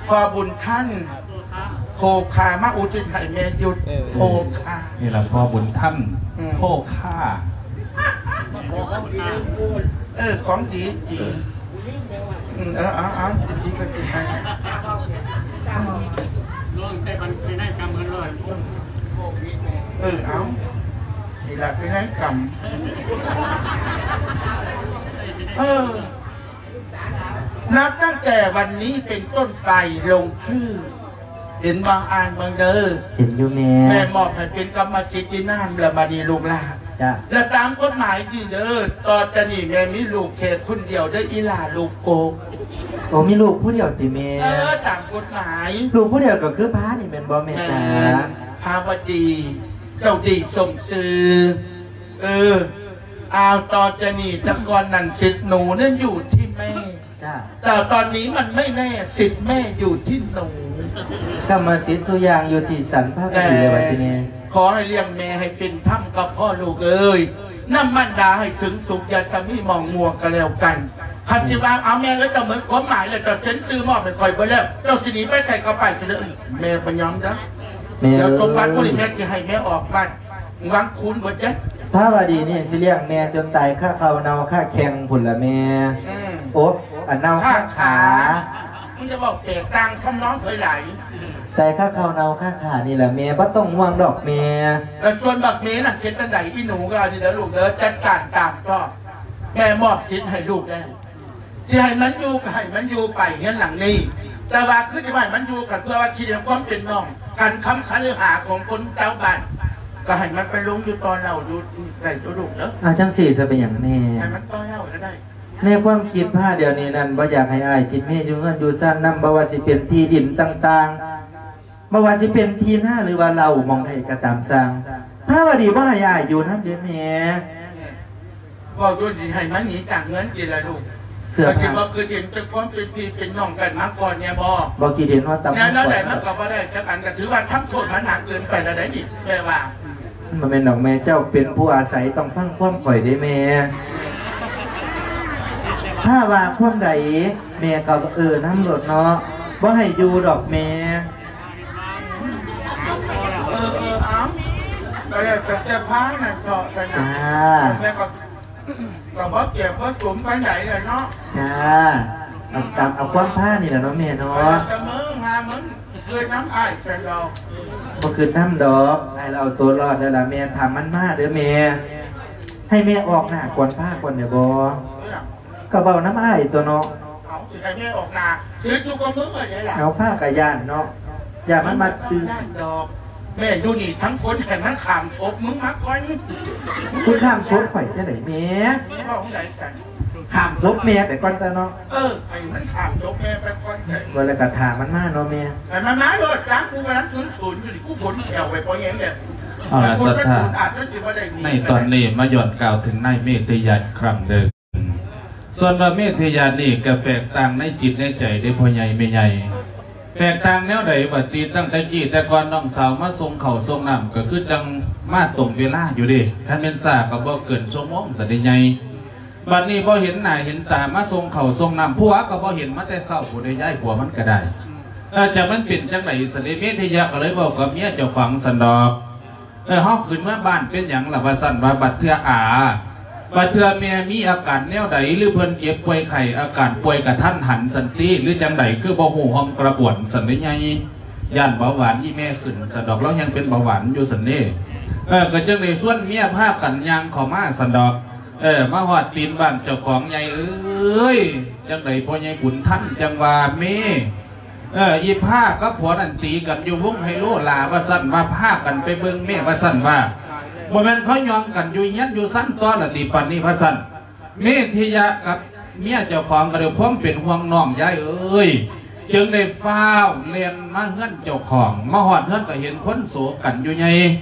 ພໍ່ບຸນທັນ ໂຄຄາ ມາອຸທິດໃຫ້ແມ່ຢຸດ ເອີ ໂຄຄາ. ນີ້ລະ ພໍ່ບຸນທັນ ອືມ ໂຄຄາ. ເອີ ຂອງດີຈິງ. ອືມ ເອີ ເອົາ ເອົາ ກິນດີກໍກິນໄປ. ລອງໃຊ້ບັນໄປໄດ້ກຳເພິ່ນເລີຍ. ເອີ ເອົາ ນີ້ລະໄປໄດ້ກຳ. ເອີ ນັບຕັ້ງແຕ່ວັນນີ້ເປັນຕົ້ນໄປ ລົງຊື່ ເຫັນບໍ່? ອ່ານເບິ່ງເດີ. ເຫັນຢູ່ແມ່. ແມ່ມອບໃຫ້ເປັນກຳມະສິດອີ່ນາງລະ ບັດນີ້ລູກຫຼານ. ຈ້າ. ແລະຕາມກົດໝາຍນີ້ເດີ ຕໍ່ຈາກນີ້ແມ່ມີລູກແຄ່ຄົນດຽວເດີ ອີ່ຫຼ້າລູກໂກກ. ໂອ້ ມີລູກຜູ້ດຽວຕິແມ່? ເອີ ຕາມກົດໝາຍ. ລູກຜູ້ດຽວກໍຄືພານີ້ແມ່ນບໍ່ແມ່? ແມ່ນຈ້າ. ພາວະດີ ເຈົ້າດີສົມຊື່. ເອີ ອ້າວ ຕໍ່ຈາກນີ້ ແຕ່ກ່ອນນັ້ນສິດໜູນັ້ນຢູ່ທີ່ແມ່. ຈ້າ. ແຕ່ຕອນນີ້ມັນໄມ່ແນ່ ສິດແມ່ຢູ່ທີ່ໜູ. ກຳມະສິດທຸກຢ່າງຢູ່ທີ່ສັນພາວະດີ ແຕ່ ແລ້ວບັດນີ້ ຂໍໃຫ້ລ້ຽງແມ່ໃຫ້ເປັນທຳກໍພໍລູກເອີຍ. ນຳມານດາໃຫ້ເຖິງສຸກ ຢ່າສະມີໝອງມົວກໍແລ້ວກັນ. ຄັນຊິວ່າ ເອົາແມ່ເອີຍ ຕາເໝິດຄວາມໝາຍແລ້ວ ເຈົ້າເຊັນຊື່ມອບໃຫ້ຂ້ອຍເບິດແລ້ວ ເຈົ້າຊິໜີໄປໃສກໍໄປເດີ. ແມ່ບໍ່ຍອມເດີ. ແມ່ເອີຍ ດຽວສົມບັດມື້ນີ້ແມ່ຊິໃຫ້ແມ່ອອກບ້ານ ວັງຄູນເບິດເດ້. ພາວະດີນີ້ຊິລ້ຽງແມ່ຈົນຕາຍຄາເຂົ້າເນົ່າຄາແຂ້ງພຸ້ນລະແມ່. ອືມ ໂອ ອັນເນົ່າຄາຂາ. ມຶງຈະເວົ້າແຕກຕ່າງທຳນອງເຜີຍຫຼາຍ. ຕາຍຄາເຂົ້າເນົ່າຄາຂານີ້ລະແມ່ ບໍ່ຕ້ອງຫ່ວງດອກແມ່. ແລ້ວສ່ວນບັກເມນັ້ນເຮັດຈັ່ງໃດ? ອີ່ໜູກໍອັນນີ້ເດີລູກເດີ ຈັດການຕາມຊອບ. ແມ່ມອບສິດໃຫ້ລູກແລ້ວ. ຊິໃຫ້ມັນຢູ່ກໍໃຫ້ມັນຢູ່ໄປເຮືອນຫຼັງນີ້ ແຕ່ວ່າຄືຊິບໍ່ໃຫ້ມັນຢູ່ ຄັນເພື່ອວ່າຄິດເລື່ອງຄວາມເປັນນ້ອງ ການຄຳຄະລືຫາຂອງຄົນເຈົ້າບ້ານ ກໍໃຫ້ມັນໄປລົງຢູ່ຕໍ່ເຫຼົ່າຢູ່ໃກ້ຕົວລູກເດີ. ອ້າວ ຈັ່ງຊີ້ຊະເປັນຫຍັງແນ່? ໃຫ້ມັນຕໍ່ເຫຼົ່າກໍໄດ້. ໃນຄວາມຄິດພາດຽວນີ້ນັ້ນ ບໍ່ຢາກໃຫ້ອ້າຍທິດເມຢູ່ເຮືອນຢູ່ຊານນຳ ບໍ່ວ່າຊິເປັນທີ່ດິນຕ່າງໆ ບໍ່ວ່າຊິເປັນທີ່ນາ ຫຼືວ່າເລົ້າໝ່ອງໃດກໍຕາມຊ່າງ, ພາວະດີບໍ່ໃຫ້ອ້າຍຢູ່ນຳເດ້ແມ່. ເວົ້າຈົນຊິໃຫ້ມັນໜີຈາກເຮືອນຕິລະລູກ. ເສື້ອຜ້າ ກໍຊິບໍ່ຄິດເຫັນແຕ່ຄວາມເປັນພີ່ເປັນນ້ອງກັນມາກ່ອນແນ່ບໍ? ບໍ່ຄິດເຫັນຮອດຕຳ ແນວໃດມັນກໍບໍ່ໄດ້ຈັກອັນ, ກໍຖືວ່າທຳໂທດມັນໜັກເກີນໄປແລ້ວໃດ໋ນີ້ ແມ່ວ່າ. ມັນບໍ່ແມ່ນດອກແມ່, ເຈົ້າເປັນຜູ້ອາໄສ ຕ້ອງຟັງຄວາມຂ້ອຍເດ້ແມ່. ພາວ່າຄວາມໃດ ແມ່ກໍເອີນຳໂລດເນາະ, ບໍ່ໃຫ້ຢູ່ດອກແມ່. ເອີ ເອີ ເອົາ ກໍແລ້ວແຕ່ພານັ້ນເຖາະ. ຈ້າ ແມ່ກໍ ກໍບໍ່ກຽມບໍ່ສົມປານໃດແຫຼະເນາະ. ຈ້າ ເອົາຕາມເອົາຄວາມພານີ້ແຫຼະເນາະແມ່ເນາະ. ກໍແລ້ວແຕ່ມຶງ ຫາມຶງຄິດນຳອ້າຍຊັ້ນດອກ. ບໍ່ຄິດນຳດອກ, ອ້າຍລາວເອົາຕົວລອດແລ້ວລະແມ່. ຖ້າມັນມາເດີແມ່, ໃຫ້ແມ່ອອກໜ້າກ່ອນພາກ່ອນໄດ້ບໍ່? ເອີ ກໍເວົ້ານຳອ້າຍຕົວະເນາະ. ເອົາ ຊິໃຫ້ແມ່ອອກໜ້າ ສິດຢູ່ກັບມຶງເລີຍເດ້ລະ. ເອົາ ພາກໍຢ້ານເນາະ, ຢ້ານມັນມາຕື່ນ. ຢ້ານດອກ ແມ່ຢູ່ນີ້ທັງຄົນ ໃຫ້ມັນຂ້າມສົບມຶງມາກ່ອນ. ຄືຂ້າມສົບຂ້ອຍຈັ່ງໃດແມ່? ເວົ້າຈັ່ງໃດຊັ້ນ? ຂ້າມສົບແມ່ໄປກ່ອນຕາເນາະ. ເອີ ໃຫ້ມັນຂ້າມສົບແມ່ໄປກ່ອນ. ວ່າແລ້ວກໍຖ້າມັນມາເນາະແມ່. ໃຫ້ມັນມາໂລດຊະ, ກູກຳລັງສູນໆຢູ່ນີ້ ກູຝົນແຂ້ວໄວ້ພໍແຮງແລ້ວ. ເອົາລະ ສັດທາ ໃນຕອນນີ້ມາຍ້ອນກ່າວເຖິງນາຍເມດທິຍະອີກຄັ້ງໜຶ່ງ. ສ່ວນວ່າເມດທິຍະນີ້ກໍແຕກຕ່າງໃນຈິດໃນໃຈເດ້ພໍ່ໃຫຍ່ແມ່ໃຫຍ່. ແຕກຕ່າງແນວໃດບັດນີ້? ຕັ້ງແຕ່ກີ້ແຕ່ກ່ອນນ້ອງສາວມາສົ່ງເຂົ້າສົ່ງນ້ຳ ກໍຄືຈັ່ງມາຕົງເວລາຢູ່ເດ້, ຄັນແມ່ນຊ້າກໍບໍ່ເກີນຊົ່ວໂມງຊັ້ນເດ້ໃຫຍ່. ບັດນີ້ບໍ່ເຫັນໜ້າເຫັນຕາ ມາສົ່ງເຂົ້າສົ່ງນ້ຳ ຜົວກໍບໍ່ເຫັນມາແຕ່ເຊົ້າພຸ້ນເດ້ຍາຍ, ຜົວມັນກໍໄດ້. ເອີ ຈະມັນເປັນຈັ່ງໃດຊັ້ນເດ? ເມດທິຍະກໍເລີຍເວົ້າກັບເມຍເຈົ້າຂອງຊັ້ນດອກ. ເອີ ເຮົາຂຶ້ນເມືອບ້ານເປັນຫຍັງລະ ວ່າຊັ້ນວ່າ, ບັດເທື່ອອາ ບັດເທື່ອແມ່ມີອາການແນວໃດ ຫຼືເພິ່ນເຈັບປ່ວຍໄຂ້ ອາການປ່ວຍກະທັນຫັນຊັ້ນຕິ ຫຼືຈັ່ງໃດ ຄືບໍ່ຮູ້ຮ່ອມກະບວນຊັ້ນເດໃຫຍ່? ຢ້ານເບົາຫວານອີ່ແມ່ຂຶ້ນຊັ້ນດອກ, ລາວແຮ່ງເປັນເບົາຫວານຢູ່ຊັ້ນເດ. ເອີ ກໍຈຶ່ງໄດ້ຊວນເມຍພາກັນຍ່າງເຂົ້າມາຊັ້ນດອກ. ເອີ ມາຮອດຕີນບ້ານເຈົ້າຂອງໃຫຍ່ເອີຍ, ຈັ່ງໃດພໍ່ໃຫຍ່ບຸນທັນຈັ່ງວ່າເມ ເອີ ອີພາກັບຜົວນັ້ນຕີກັນຢູ່ວົງໄຮໂລລາ ວ່າຊັ້ນວ່າ, ພາກັນໄປເບິ່ງແມ່ ວ່າຊັ້ນວ່າ. ບໍ່ແມ່ນເຂົາຍ່ອງກັນຢູ່ເຮືອນຢູ່ຊັ້ນຕົວະລະຕິ ປານນີ້ ວ່າຊັ້ນ. ເມດທິຍະກັບເມຍເຈົ້າຂອງກໍດ້ວຍຄວາມເປັນຫ່ວງນ້ອງ ຍາຍເອີຍ, ຈຶ່ງໄດ້ຟ້າວແລ່ນມາເຮືອນເຈົ້າຂອງ. ມາຮອດເຮືອນກໍເຫັນຄົນໂສກັນຢູ່ໃຫຍ່,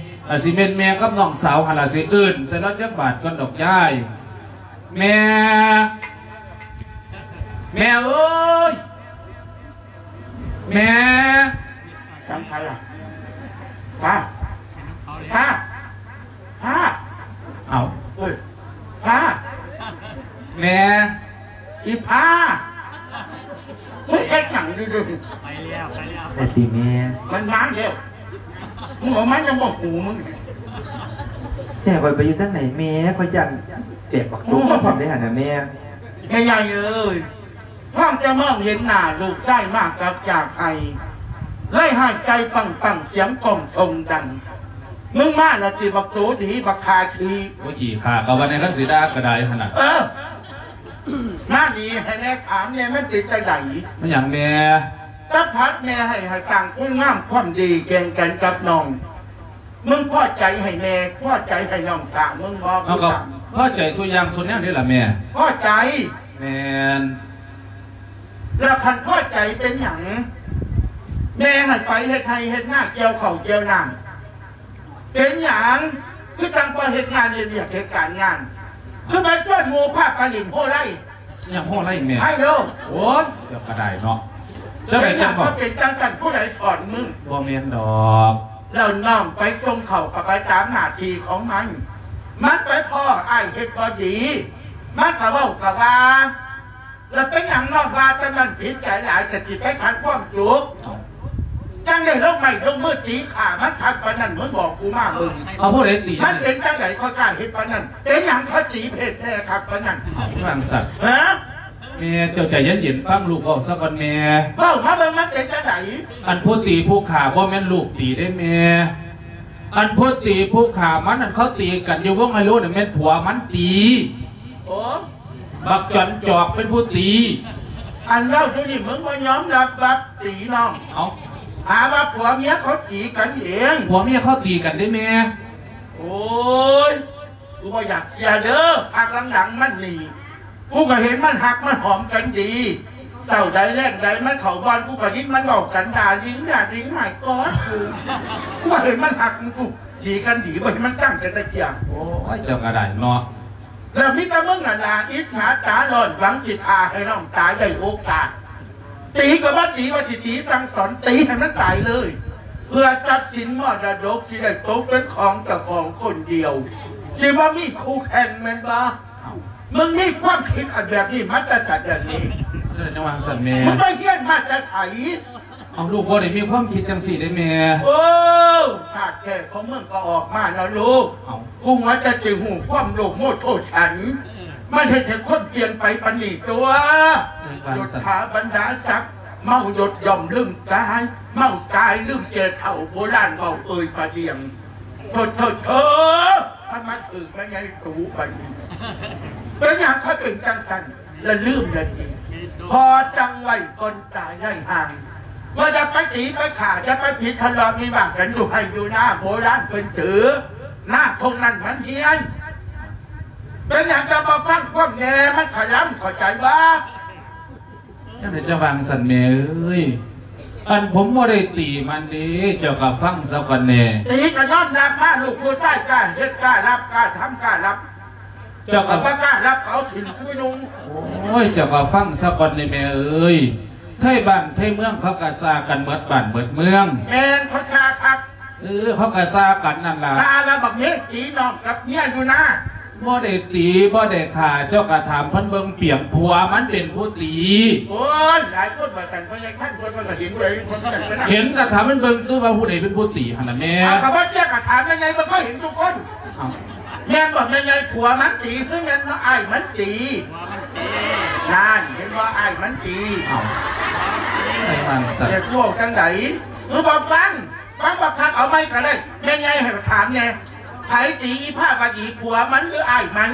ອາດຊິແມ່ນແມ່ກັບນ້ອງສາວຫັ້ນລະ, ຊິເອີ້ນໃສ່ລາວຈັກບາດກ່ອນດອກຍາຍ. ແມ່ ແມ່ເອີຍ ແມ່. ສັງໃຜລະ? ພາ ພາ ພາ. ເອົ້າ ເອີຍ ພາ ແມ່ ອີພາ ມຶງເຮັດຫຍັງຢູ່? ໄປແລ້ວ ໄປແລ້ວ ໄປຕິແມ່. ມັນມາແລ້ວ, ມຶງເອົາມາຍັງບໍ່ຫູມຶງ. ແຊຂ້ອຍໄປຢູ່ທາງໃດແມ່? ຂ້ອຍຢ້ານແຕກບັກຕົກ ໂອ້ ພ້ອມເດ້ຫັ້ນນະແມ່. ແມ່ໃຫຍ່ເອີຍ ພາງຈະມອງເຫັນໜ້າລູກຊາຍມາກັບຈາກໄຮ່, ໄລ່ຫາຍໃຈປັງໆ ສຽງກ້ອງຊົງດັງ. ມຶງມາລະຕິບັກໂຕດີ ບັກຂ້າຂີ້. ໂອ້ຍ ຂີ້ຂ້າກໍວ່າແນວນັ້ນ ຊິດ່າກໍໄດ້ຫັ້ນນະ. ເອີ ມານີ້ໃຫ້ແມ່ຖາມແດ່ ມັນເປັນຈັ່ງໃດ? ແມ່ນຫຍັງແມ່? ຕາພັດແມ່ໃຫ້ ໃຫ້ສ້າງຄຸນງາມຄວາມດີແຂ່ງກັນກັບນ້ອງ. ມຶງພໍໃຈໃຫ້ແມ່ ພໍໃຈໃຫ້ນ້ອງສາວມຶງບໍ່? ເຮົາກໍພໍໃຈສູ່ຢ່າງສູ່ແນວນີ້ລະແມ່. ພໍໃຈ? ແມ່ນ. ແລ້ວຄັນພໍໃຈເປັນຫຍັງ ແມ່ຫັ້ນໄປເຮັດໄຮ່ເຮັດນາ ກ່ຽວເຂົ້າກ່ຽວນ້ຳ ເປັນຫຍັງຄືຈັ່ງບໍ່ເຮັດງານເຮັດວຽກເຮັດການງານ ຄືໄປຊວນໝູ່ພາໄປຫຼິ້ນໂຮໄລ? ຫຍັງໂຮໄລແມ່? ໄຮໂລ. ໂອ້ຍ ເຈົ້າກໍໄດ້ເນາະ. ເຈົ້າເປັນຫຍັງກໍເປັນຈັ່ງຊັ້ນ ຜູ້ໃດສອນມຶງ? ບໍ່ແມ່ນດອກ. ແລ້ວນ້ອງໄປສົ່ງເຂົ້າກໍໄປຕາມໜ້າທີ່ຂອງມັນ, ມັນໄປພໍ້ອ້າຍເຮັດບໍ່ດີ ມັນກໍເວົ້າກໍວ່າ. ແລ້ວເປັນຫຍັງນ້ອງວ່າຈັ່ງນັ້ນ ຜິດໃຈຫຼາຍ ສະຕິໄປຂັດຄວາມສຸກ ຈັ່ງໄດ້ລົງໄມ້ລົງມືຕີຂ້າມັນຄັກປານນັ້ນ? ມຶງບອກກູມາເບິ່ງ. ເອົາຜູ້ໃດຕີ? ມັນເປັນຈັ່ງໃດຂ້ອຍກ້າເຮັດປານນັ້ນ? ເປັນຫຍັງເຂົາຕີເພັດແດ່ຄັກປານນັ້ນ? ເອົາ ຄືວ່າຈັ່ງຊັ້ນ. ຮະ? ແມ່ ເຈົ້າໃຈເຢັນໆ ຟັງລູກເວົ້າຊະກ່ອນແມ່. ເວົ້າມາເບິ່ງ ມັນເປັນຈັ່ງໃດ? ອັນຜູ້ຕີຜູ້ຂ້າບໍ່ແມ່ນລູກຕີເດ້ແມ່. ອັນຜູ້ຕີຜູ້ຂ້າມັນນັ້ນ ເຂົາຕີກັນຢູ່ວົງໄຮໂລນັ້ນ ແມ່ນຜົວມັນຕີ. ໂອ້ ບັກຈອນຈອກເປັນຜູ້ຕີ. ອັນເວົ້າຢູ່ນີ້ ມຶງບໍ່ຍອມຮັບວ່າຕີນ້ອງ. ເອົ້າ ຫາວ່າຜົວເມຍເຂົາຕີກັນເອງ. ຜົວເມຍເຂົາຕີກັນເດ້ແມ່. ໂອ້ຍ ກູບໍ່ຢາກເຊື່ອເດີ. ພັກຫຼັງໆມານີ້ ກູກໍເຫັນມັນຮັກມັນຫອມກັນດີ. ເຊົ້າໃດແລງໃດມັນເຂົ້າບ່ອນ ກູກໍຍິນມັນເວົ້າກັນ ດາລິງ ດາລິງ ມາຍກອດ ກູ ກູບໍ່ເຫັນມັນຮັກກູ ດີກັນດີ ບໍ່ເຫັນມັນຈັງກັນຈັກເທື່ອ. ໂອ້ຍ ເຈົ້າກໍໄດ້ເນາະ. ແລ້ວມີແຕ່ມຶງນັ້ນລະ ອິດສາຕາຮ້ອນ ຫວັງຊິຂ້າໃຫ້ນ້ອງຕາຍໄດ້ໂອກາດ. ຕີກໍບໍ່ຕີ ວ່າຊິຕີສັ່ງສອນ ຕີໃຫ້ມັນຕາຍເລີຍ ເພື່ອຊັບສິນມໍລະດົກຊິໄດ້ຕົກເປັນຂອງເຈົ້າຂອງຄົນດຽວ ຊິບໍ່ມີຄູ່ແຂ່ງແມ່ນບໍ່? ເອົ້າ ມຶງມີຄວາມຄິດອັນແບບນີ້ມາແຕ່ໃສແບບນີ້? ເຈົ້າຈັ່ງວ່າຊັ້ນແມ່ ມຶງໄປຮຽນມາແຕ່ໃສ? ເອົ້າ ລູກບໍ່ໄດ້ມີຄວາມຄິດຈັ່ງຊີ້ເດ້ແມ່. ໂອ້ ທາດແທ້ຂອງມຶງກໍອອກມາແລ້ວລູກ. ເອົ້າ ກູຫົວແຕ່ຊິຮູ້ຄວາມໂລບໂມໂທສັນ ມັນເຮັດໃຫ້ຄົນປ່ຽນໄປປານນີ້ຕົວະ. ເຈົ້າວ່າຊັ້ນ ສຸດຖາບັນດາສັກ ເມົາຍົດຍ່ອມລືມກາຍ ເມົາກາຍລືມແກ່ເຖົ້າ ໂບລານເວົ້າເອີ່ຍປາດຽງ. ໂທ້ໆໆ ມັນມາຖືກແມ່ໃຫຍ່ຕູບັດນີ້ ເປັນຫຍັງເຂົາເປັນຈັ່ງຊັ້ນ ລະລືມລະຕິ ພໍຈັ່ງໄວ້ກ່ອນຕາຍໄດ້ຫ່າງ ວ່າຢ່າໄປຕີໄປຂ້າ ຢ່າໄປຜິດທະເລາະວິວາດກັນຢູ່ໄຮ່ຢູ່ນາ ໂບລານເພິ່ນຖື ນາທົ່ງນັ້ນມັນຮຽນ. ເປັນຫຍັງຈະບໍ່ຟັງຄວາມແດ່ ມັນຂະລຳ ເຂົ້າໃຈບໍ່? ຈັ່ງໃດຈະວ່າຈັ່ງຊັ້ນແມ່ເອີຍ? ອັນ ຜົມບໍ່ໄດ້ຕີມັນເດ້ ເຈົ້າກໍຟັງຊະກ່ອນແດ່. ຕີກໍຍອມຮັບມາ ລູກຜູ້ຊາຍກ້າເຮັດກ້າຮັບ ກ້າທຳກ້າຮັບ. ເຈົ້າກໍ ກໍບໍ່ກ້າຮັບ ເອົາຖິ້ມຄືໜຸ່ມ. ໂອ້ຍ ເຈົ້າກໍຟັງຊະກ່ອນເດ້ແມ່ເອີຍ. ໄທບ້ານໄທເມືອງເຂົາກໍຊ່າກັນໝົດບ້ານໝົດເມືອງ. ແມ່ນ ເຂົາຊ່າຄັກ. ເອີ ເຂົາກໍຊ່າກັນນັ້ນລະ ຖ້າວ່າບັກເມກຕີນ້ອງກັບເມຍຢູ່ນາ ບໍ່ໄດ້ຕີ ບໍ່ໄດ້ຂ້າ ເຈົ້າກໍຖາມເພິ່ນເບິ່ງ ປຽງຜົວມັນເປັນຜູ້ຕີ. ໂອ້ຍ ຫຼາຍຄົນວ່າຊັ້ນ ເພິ່ນຍັງທັນ ເພິ່ນກໍເຫັນຜູ້ໃດເປັນຄົນນັ້ນໄປນຳ ເຫັນກໍຖາມມັນເບິ່ງ ຄືວ່າຜູ້ໃດເປັນຜູ້ຕີຫັ້ນນະແມ່. ເອົາ ກໍບໍ່ເຊື່ອກໍຖາມແມ່ໃຫຍ່ເບິ່ງ ເຂົາເຫັນທຸກຄົນ. ເອົ້າ ແມ່ນບໍ່ແມ່ໃຫຍ່ ຜົວມັນຕີ ຫຼືແມ່ນອ້າຍມັນຕີ? ນັ້ນ ເຫັນບໍ່ ອ້າຍມັນຕີ. ເອົ້າ ໄປວ່າຊັ້ນ ແຕ່ກູເວົ້າຈັ່ງໃດ ຄືບໍ່ຟັງ? ຟັງບໍ່ຄັກເອົາໃໝ່ກໍໄດ້. ແມ່ໃຫຍ່ໃຫ້ຖາມແດ່ ໃຜຕີອີພາວະດີ ຜົວມັນ ຫຼືອ້າຍມັນ?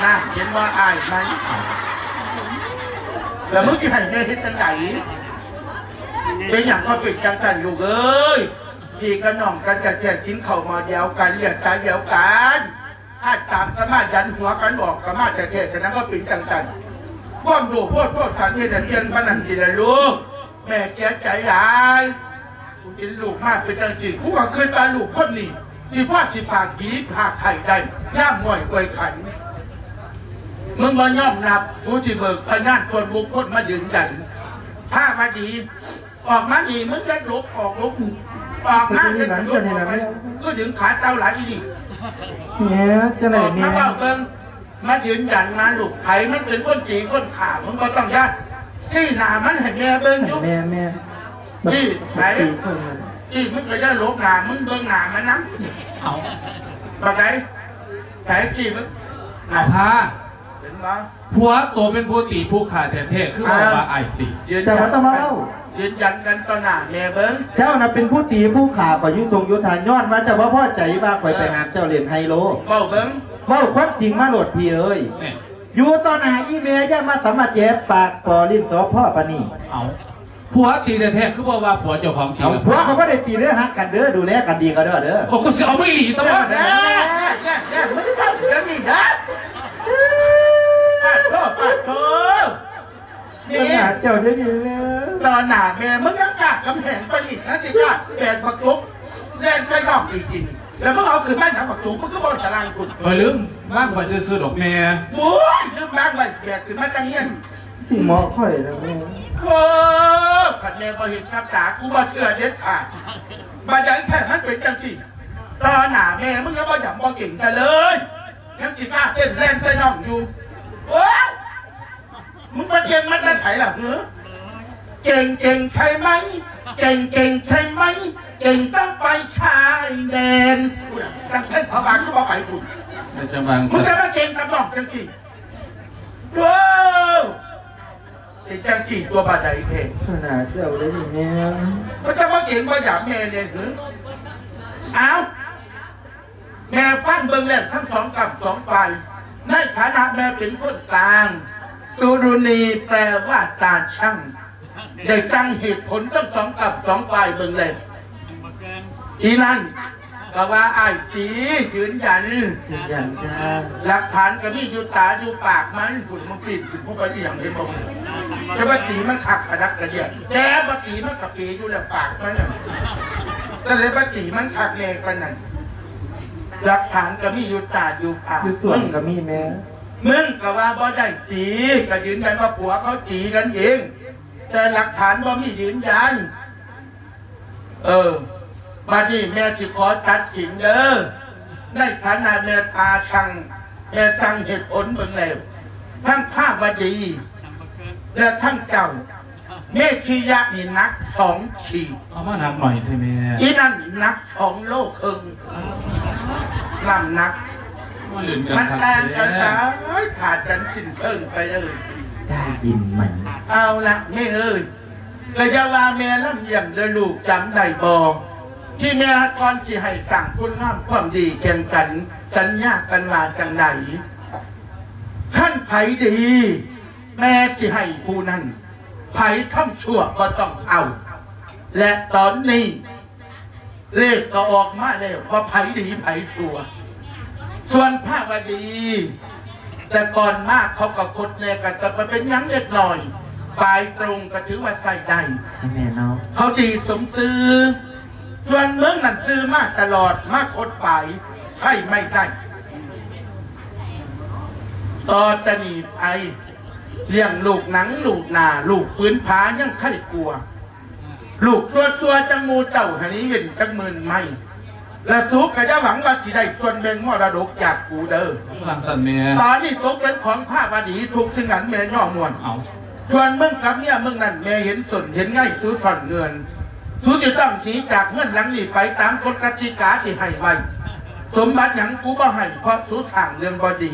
ນັ້ນ ເຫັນບໍ່ ອ້າຍມັນ. ແລ້ວມຶງຊິໃຫ້ແມ່ເຮັດຈັ່ງໃດ? ເປັນຫຍັງກໍເປັນຈັ່ງຊັ້ນລູກເອີຍ. ພີ່ກັບນ້ອງກັນແທ້ໆ ກິນເຂົ້າໝໍ້ດຽວກັນ ເລືອດສາຍດຽວກັນ. ຖ້າຕາມກັນມາ ຢັນຫົວກັນອອກກັນມາແທ້ໆ ສະນັ້ນກໍເປັນຈັ່ງຊັ້ນ. ຄວາມໂລບໂພດໂທດສັນນີ້ລະ ປ່ຽນປານນັ້ນຕິລະລູກ. ແມ່ເສຍໃຈຫຼາຍ ກູເປັນລູກມາເປັນຈັ່ງຊີ້ ກູກໍຄິດວ່າລູກຄົນນີ້ ຊິພໍຊິພາກດີພາກໄຂ້ໄດ້ ຍາມມ້ອຍອວຍຂັນ. ມຶງບໍ່ຍອມຮັບ ກູຊິເບີກພະຍານສ່ວນບຸກຄົນມາຢືນຢັນ. ພາມາດີ ອອກມານີ້ ມຶງຢ່າຫຼົບ ອອກຫຼົບ ອອກມາ ຢ່າຫຼົບອອກໄປ. ຄືດຶງຂາເຕົ່າຫຼາຍອີ່ນີ້. ແມ່ ຈັ່ງໃດແມ່? ອອກມາເວົ້າເບິ່ງ ມາຢືນຢັນມາລູກ ໃຜມັນເປັນຄົນຕີຄົນຂ້າ ມຶງບໍ່ຕ້ອງຢ້ານ. ຊີ້ໜ້າມັນໃຫ້ແມ່ເບິ່ງຢູ່. ແມ່ ແມ່ ຊີ້ໃຜ? ຊີ້ ມຶງກໍຢ່າຫຼົບໜ້າ ມຶງເບິ່ງໜ້າມັນນຳ. ເອົາ ບັກໃດ? ໃຜຊີ້ມຶງ? ເອົາພາ ເຫັນບໍ່? ຜົວໂຕເປັນຜູ້ຕີຜູ້ຂ້າແທ້ໆ ຄືເວົ້າວ່າອ້າຍຕີ. ເຈົ້າບໍ່ຕ້ອງມາເວົ້າ ຢືນຢັນກັນຕໍ່ໜ້າແມ່ເບິ່ງ. ເຈົ້ານະເປັນຜູ້ຕີຜູ້ຂ້າຂ້ອຍຢູ່ທົ່ງຢູ່ທ່າ ຍ້ອນວ່າເຈົ້າບໍ່ພໍໃຈວ່າຂ້ອຍໄປຫາເຈົ້າຫຼິ້ນໄຮໂລ. ເວົ້າເບິ່ງ ເວົ້າຄວາມຈິງມາໂລດພີ່ເອີຍ. ຢູ່ຕໍ່ໜ້າອີ່ແມ່ຢ່າມາສາມາດແຈບປາກປໍຫຼິ້ນສໍພໍ່ປານນີ້. ເອົ້າ ຜົວຕີແທ້ໆ ຄືບໍ່ວ່າຜົວເຈົ້າຂອງຕີ? ເອົາ ລະ ຜົວກໍບໍ່ໄດ້ຕີເດີ ຮັກກັນເດີ ດູແລກັນດີກໍເດີ. ໂອ້ ກູຊິເອົາໄປອີ່ຫຼີຊະບໍ່? ແນ່ໆໆ ມັນທຳຢ່າງນີ້ນະ. ປາດໂທ ປາດໂທ ນີ້ ເຈົ້າດຽວນີ້ແມ່ ຕໍ່ໜ້າແມ່ ມຶງຍັງກ້າກຳແຫງປານນີ້ ຄັນຊິກ້າແບກບັກຈົກແລ່ນໃສ່ນ້ອງອີກຕິນີ້. ແລ້ວມຶງເອົາຂຶ້ນມາຫຍັງບັກຈົກ ມຶງຄືບໍ່ຕາລາງພຸ້ນ? ຂ້ອຍລືມວາງໄວ້ຊື່ໆດອກແມ່. ໂອ້ຍ ລືມວາງໄວ້ ແບກຂຶ້ນມາຈັ່ງຮຽນ ຊິເໝາະຂ້ອຍນະແມ່. ໂອ້ ຄັນແມ່ບໍ່ເຫັນກັບຕາ ກູບໍ່ເຊື່ອເດັດຂາດ. ບັດໃດແທ້ມັນເປັນຈັ່ງຊີ້ ຕໍ່ໜ້າແມ່ມຶງຍັງບໍ່ຢຳບໍ່ເກງກັນເລີຍ ຍັງຊິກ້າເຕັ້ນແລ່ນໃສ່ນ້ອງຢູ່. ໂອ້ຍ ມຶງໄປເກັ່ງມາແຕ່ໃສລະຫື? ເກັ່ງ ເກັ່ງໃຊ່ໄໝ? ເກັ່ງ ເກັ່ງໃຊ່ໄໝ? ເກັ່ງຕ້ອງໄປຊາຍແດນ. ພຸ້ນນະ ຈັ່ງເພິ່ນເຂົາວ່າຄືບໍ່ໄປພຸ້ນ. ແລ້ວຈະວ່າ ມຶງຈະມາເກັ່ງກັບນ້ອງຈັ່ງຊີ້. ໂອ້ ເປັນຈັ່ງຊີ້ຕົວະ ບາດໃດແທ້? ຂະໜາດເຈົ້າເດ້ນີ້ແມ່. ມັນຈະມາເກັ່ງມາຢາມແມ່ແດ່ຫື? ເອົ້າ ແມ່ຟັງເບິ່ງແລ້ວທັງສອງກ້ຳສອງຝ່າຍ ໃນຖານະແມ່ເປັນຄົນກາງ ຕຸລຸນີ ແປວ່າຕາຊັ່ງ ໄດ້ຟັງເຫດຜົນທັງສອງກ້ຳສອງຝ່າຍເບິ່ງແລ້ວ ອີ່ນັ້ນກໍວ່າອ້າຍຕີ ຢືນຢັນ ຢືນຢັນຈ້າ ຫຼັກຖານກໍມີຢູ່ຕາຢູ່ປາກມັນພຸ້ນ ມັນປີນຂຶ້ນພູໄປອີ່ຫຍັງເຫັນບໍ່? ຈະວ່າຕີມັນຄັກກະດັກກະເດຍ ແຕ່ບໍ່ຕີມັນກະເປຢູ່ແລ້ວ ປາກມັນນະ ຈະໄດ້ວ່າຕີມັນຄັກແນ່ປານນັ້ນ. ຫຼັກຖານກະມີຢູ່ຕາຢູ່ປາກ ຢູ່ສວນກະມີແມ່. ມຶງກະວ່າບໍ່ໄດ້ຕີ ກະຢືນຢັນວ່າຜົວເຂົາຕີກັນເອງ ແຕ່ຫຼັກຖານບໍ່ມີຢືນຢັນ. ເອີ ບາດນີ້ແມ່ຊິຂໍຕັດສິນເດີ ໃນຖານະແມ່ຕາຊ່າງ ແມ່ຊ່າງເຫດຜົນເບິ່ງແລ້ວ ທັງພາວະດີ ແລະ ທັງເຈົ້າ ເມທິຍະນີ້ໜັກສອງຂີດ. ເອົາມາໜັກໜ້ອຍແທ້ແມ່. ອີນັ້ນໜັກສອງໂລເຄິ່ງ ນ້ຳໜັກ ມັນຕ່າງກັນຫຼາຍ ຂາດກັນສິ້ນເຊີງໄປເລີຍ. ໄດ້ຍິນໄໝ? ເອົາລະແມ່ເອີຍ ກະຢ່າວ່າແມ່ລຳລຽງເດີລູກ ຈຳໄດ້ບໍ່ ທີ່ແມ່ກ່ອນຊິໃຫ້ສ້າງຄຸນງາມຄວາມດີແກ່ງກັນ ສັນຍາກັນວ່າຈັ່ງໃດ? ຄັນໃຜດີ ແມ່ຊິໃຫ້ຜູ້ນັ້ນ ໃຜທຳຊົ່ວບໍ່ຕ້ອງເອົາ. ແລະ ຕອນນີ້ ເລກກໍອອກມາແລ້ວວ່າໃຜດີໃຜຊົ່ວ. ສ່ວນພາວະດີ ແຕ່ກ່ອນມາເຂົາກໍຄົດແນ່ ກໍຈະໄປເປັນຫຍັງເລັກນ້ອຍ ປາຍຕົງກໍຖືວ່າໃຊ້ໄດ້ ແມ່ນເນາະ ເຂົາດີສົມຊື່. ສ່ວນມຶງນັ້ນຊື່ມາຕະຫຼອດ ມາຄົດປາຍ ໃຊ້ໄມ່ໄດ້. ຕໍ່ແຕ່ນີ້ໄປ ລ້ຽງລູກໜັງລູກໜ້າ ລູກຜືນຜາຍັງໄຄກວ່າ ລູກຊົ່ວໆ ຈັ່ງໝູ່ເຈົ້າຫັ້ນນີ້ເວັ້ນຈັກໝື່ນໄມ້ ແລະ ສູກະຢ່າຫວັງວ່າຊິໄດ້ສ່ວນແບ່ງມໍລະດົກຈາກກູເດີ ວ່າຊັ້ນແມ່. ຕອນນີ້ຕົກເປັນຂອງພາວະດີທຸກສິ່ງອັນແມ່ຍໍມ່ວນ. ເອົາ ສ່ວນມຶງກັບເມຍມຶງນັ້ນ ແມ່ເຫັນສົ້ນເຫັນໄງ ສູສ້ອນເງື່ອນ ສູຊິຕ້ອງໜີຈາກເຮືອນຫຼັງນີ້ໄປຕາມກົດກະຕິກາທີ່ໃຫ້ໄວ້. ສົມບັດຫຍັງກູບໍ່ໃຫ້ ເພາະສູສ້າງເລື່ອງບໍ່ດີ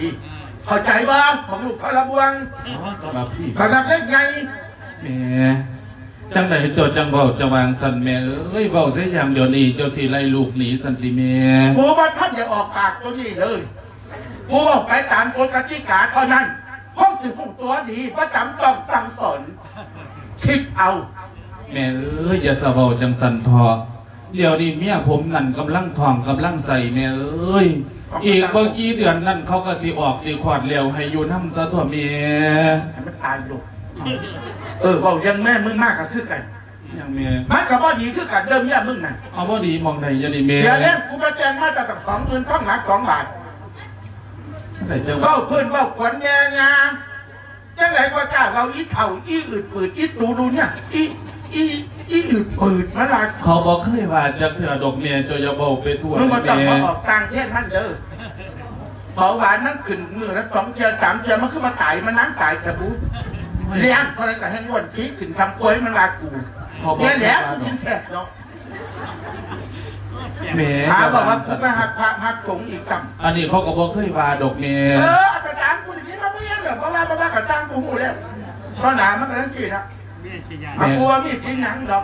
ເຂົ້າໃຈບໍ່ ຂອງລູກທະລະບວງ? ອໍ ສຳລັບພີ່ ສຳລັບເລັກໃຫຍ່ ແມ່. ຈັ່ງໃດເຈົ້າຈັ່ງເວົ້າຈະວ່າຈັ່ງຊັ້ນແມ່ເອີຍ? ເວົ້າເສຍຢ່າງດຽວນີ້ເຈົ້າຊິໄລ່ລູກໜີຊັ້ນຕິແມ່? ກູບໍ່ທັນໄດ້ອອກປາກໂຕນີ້ເລີຍ ກູເວົ້າໄປຕາມກົດກະຕິກາເທົ່ານັ້ນ. ຄົນຊິຮູ້ຕົວດີ ບໍ່ຈຳຕ້ອງສັ່ງສອນ ຄິດເອົາ. ແມ່ເອີຍ ຢ່າສະເວົ້າຈັ່ງຊັ້ນເຖາະ ດຽວນີ້ເມຍຜົມນັ້ນກຳລັງທ້ອງກຳລັງໄສ້ແມ່ເອີຍ. ອີກບໍ່ກີ່ເດືອນນັ້ນເຂົາກໍຊິອອກຊິຄອດແລ້ວ ໃຫ້ຢູ່ນຳຊະຕົວະແມ່. ໃຫ້ມັນຕາຍໂລດ. ເອີ ເວົ້າຢ່າງແມ່ມຶງມາກໍຄືກັນ ຫຍັງແມ່? ມັນກໍບໍ່ດີຄືກັນເດີເມຍມຶງນະ. ເອົາ ບໍ່ດີໝ່ອງໃດ? ຢ່ານີ້ແມ່ ເສຍແຮງ ກູມາແຕ່ງມາຕັ້ງສອງໝື່ນ ທອງໜັກສອງບາດ. ເວົ້າພື້ນເວົ້າຂວັນແມ່ຍ່າ ຈັ່ງໃດກໍກ້າເວົ້າ ອີເຖົ້າ ອີອືດປືດ ອີຕູດູເນຍ ອີ ອີ ອີອືດປືດ ມັນວ່າ. ເຂົາບໍ່ເຄີຍວ່າຈັກເທື່ອດອກແມ່ ເຈົ້າຢ່າເວົ້າໄປທົ່ວ. ມຶງບໍ່ຕ້ອງມາອອກຕ່າງແທນມັນເດີ. ເບົາຫວານມັນຂຶ້ນມື້ລະສອງເທື່ອສາມເທື່ອ ມັນຄືວ່າຕາຍ ມັນນານຕາຍສະບຸ. ລ້ຽງເທົ່າໃດກໍແຮ່ງອ້ວນ ຜີຂຶ້ນທຳຄວາຍ ມັນວ່າກູ. ແມ່ນແຫຼະ ກູກິນແຊບເນາະ. ແມ່ ຫາເວົ້າວ່າກູໄປຮັກພະຮັກສົງອີກຊ້ຳ. ອັນນີ້ເຂົາກໍບໍ່ເຄີຍວ່າດອກແມ່. ເອີ ກະຕາມກູນີ້ມາບໍ່ຍັງດອກ ບໍ່ວ່າບໍ່ວ່າກະຕາມ ກູຮູ້ແລ້ວ. ຕອນໜ້າມັນກໍຈັ່ງຊີ້ລະ. ແມ່ ຫາກູວ່າມີສິນຫຍັງດອກ.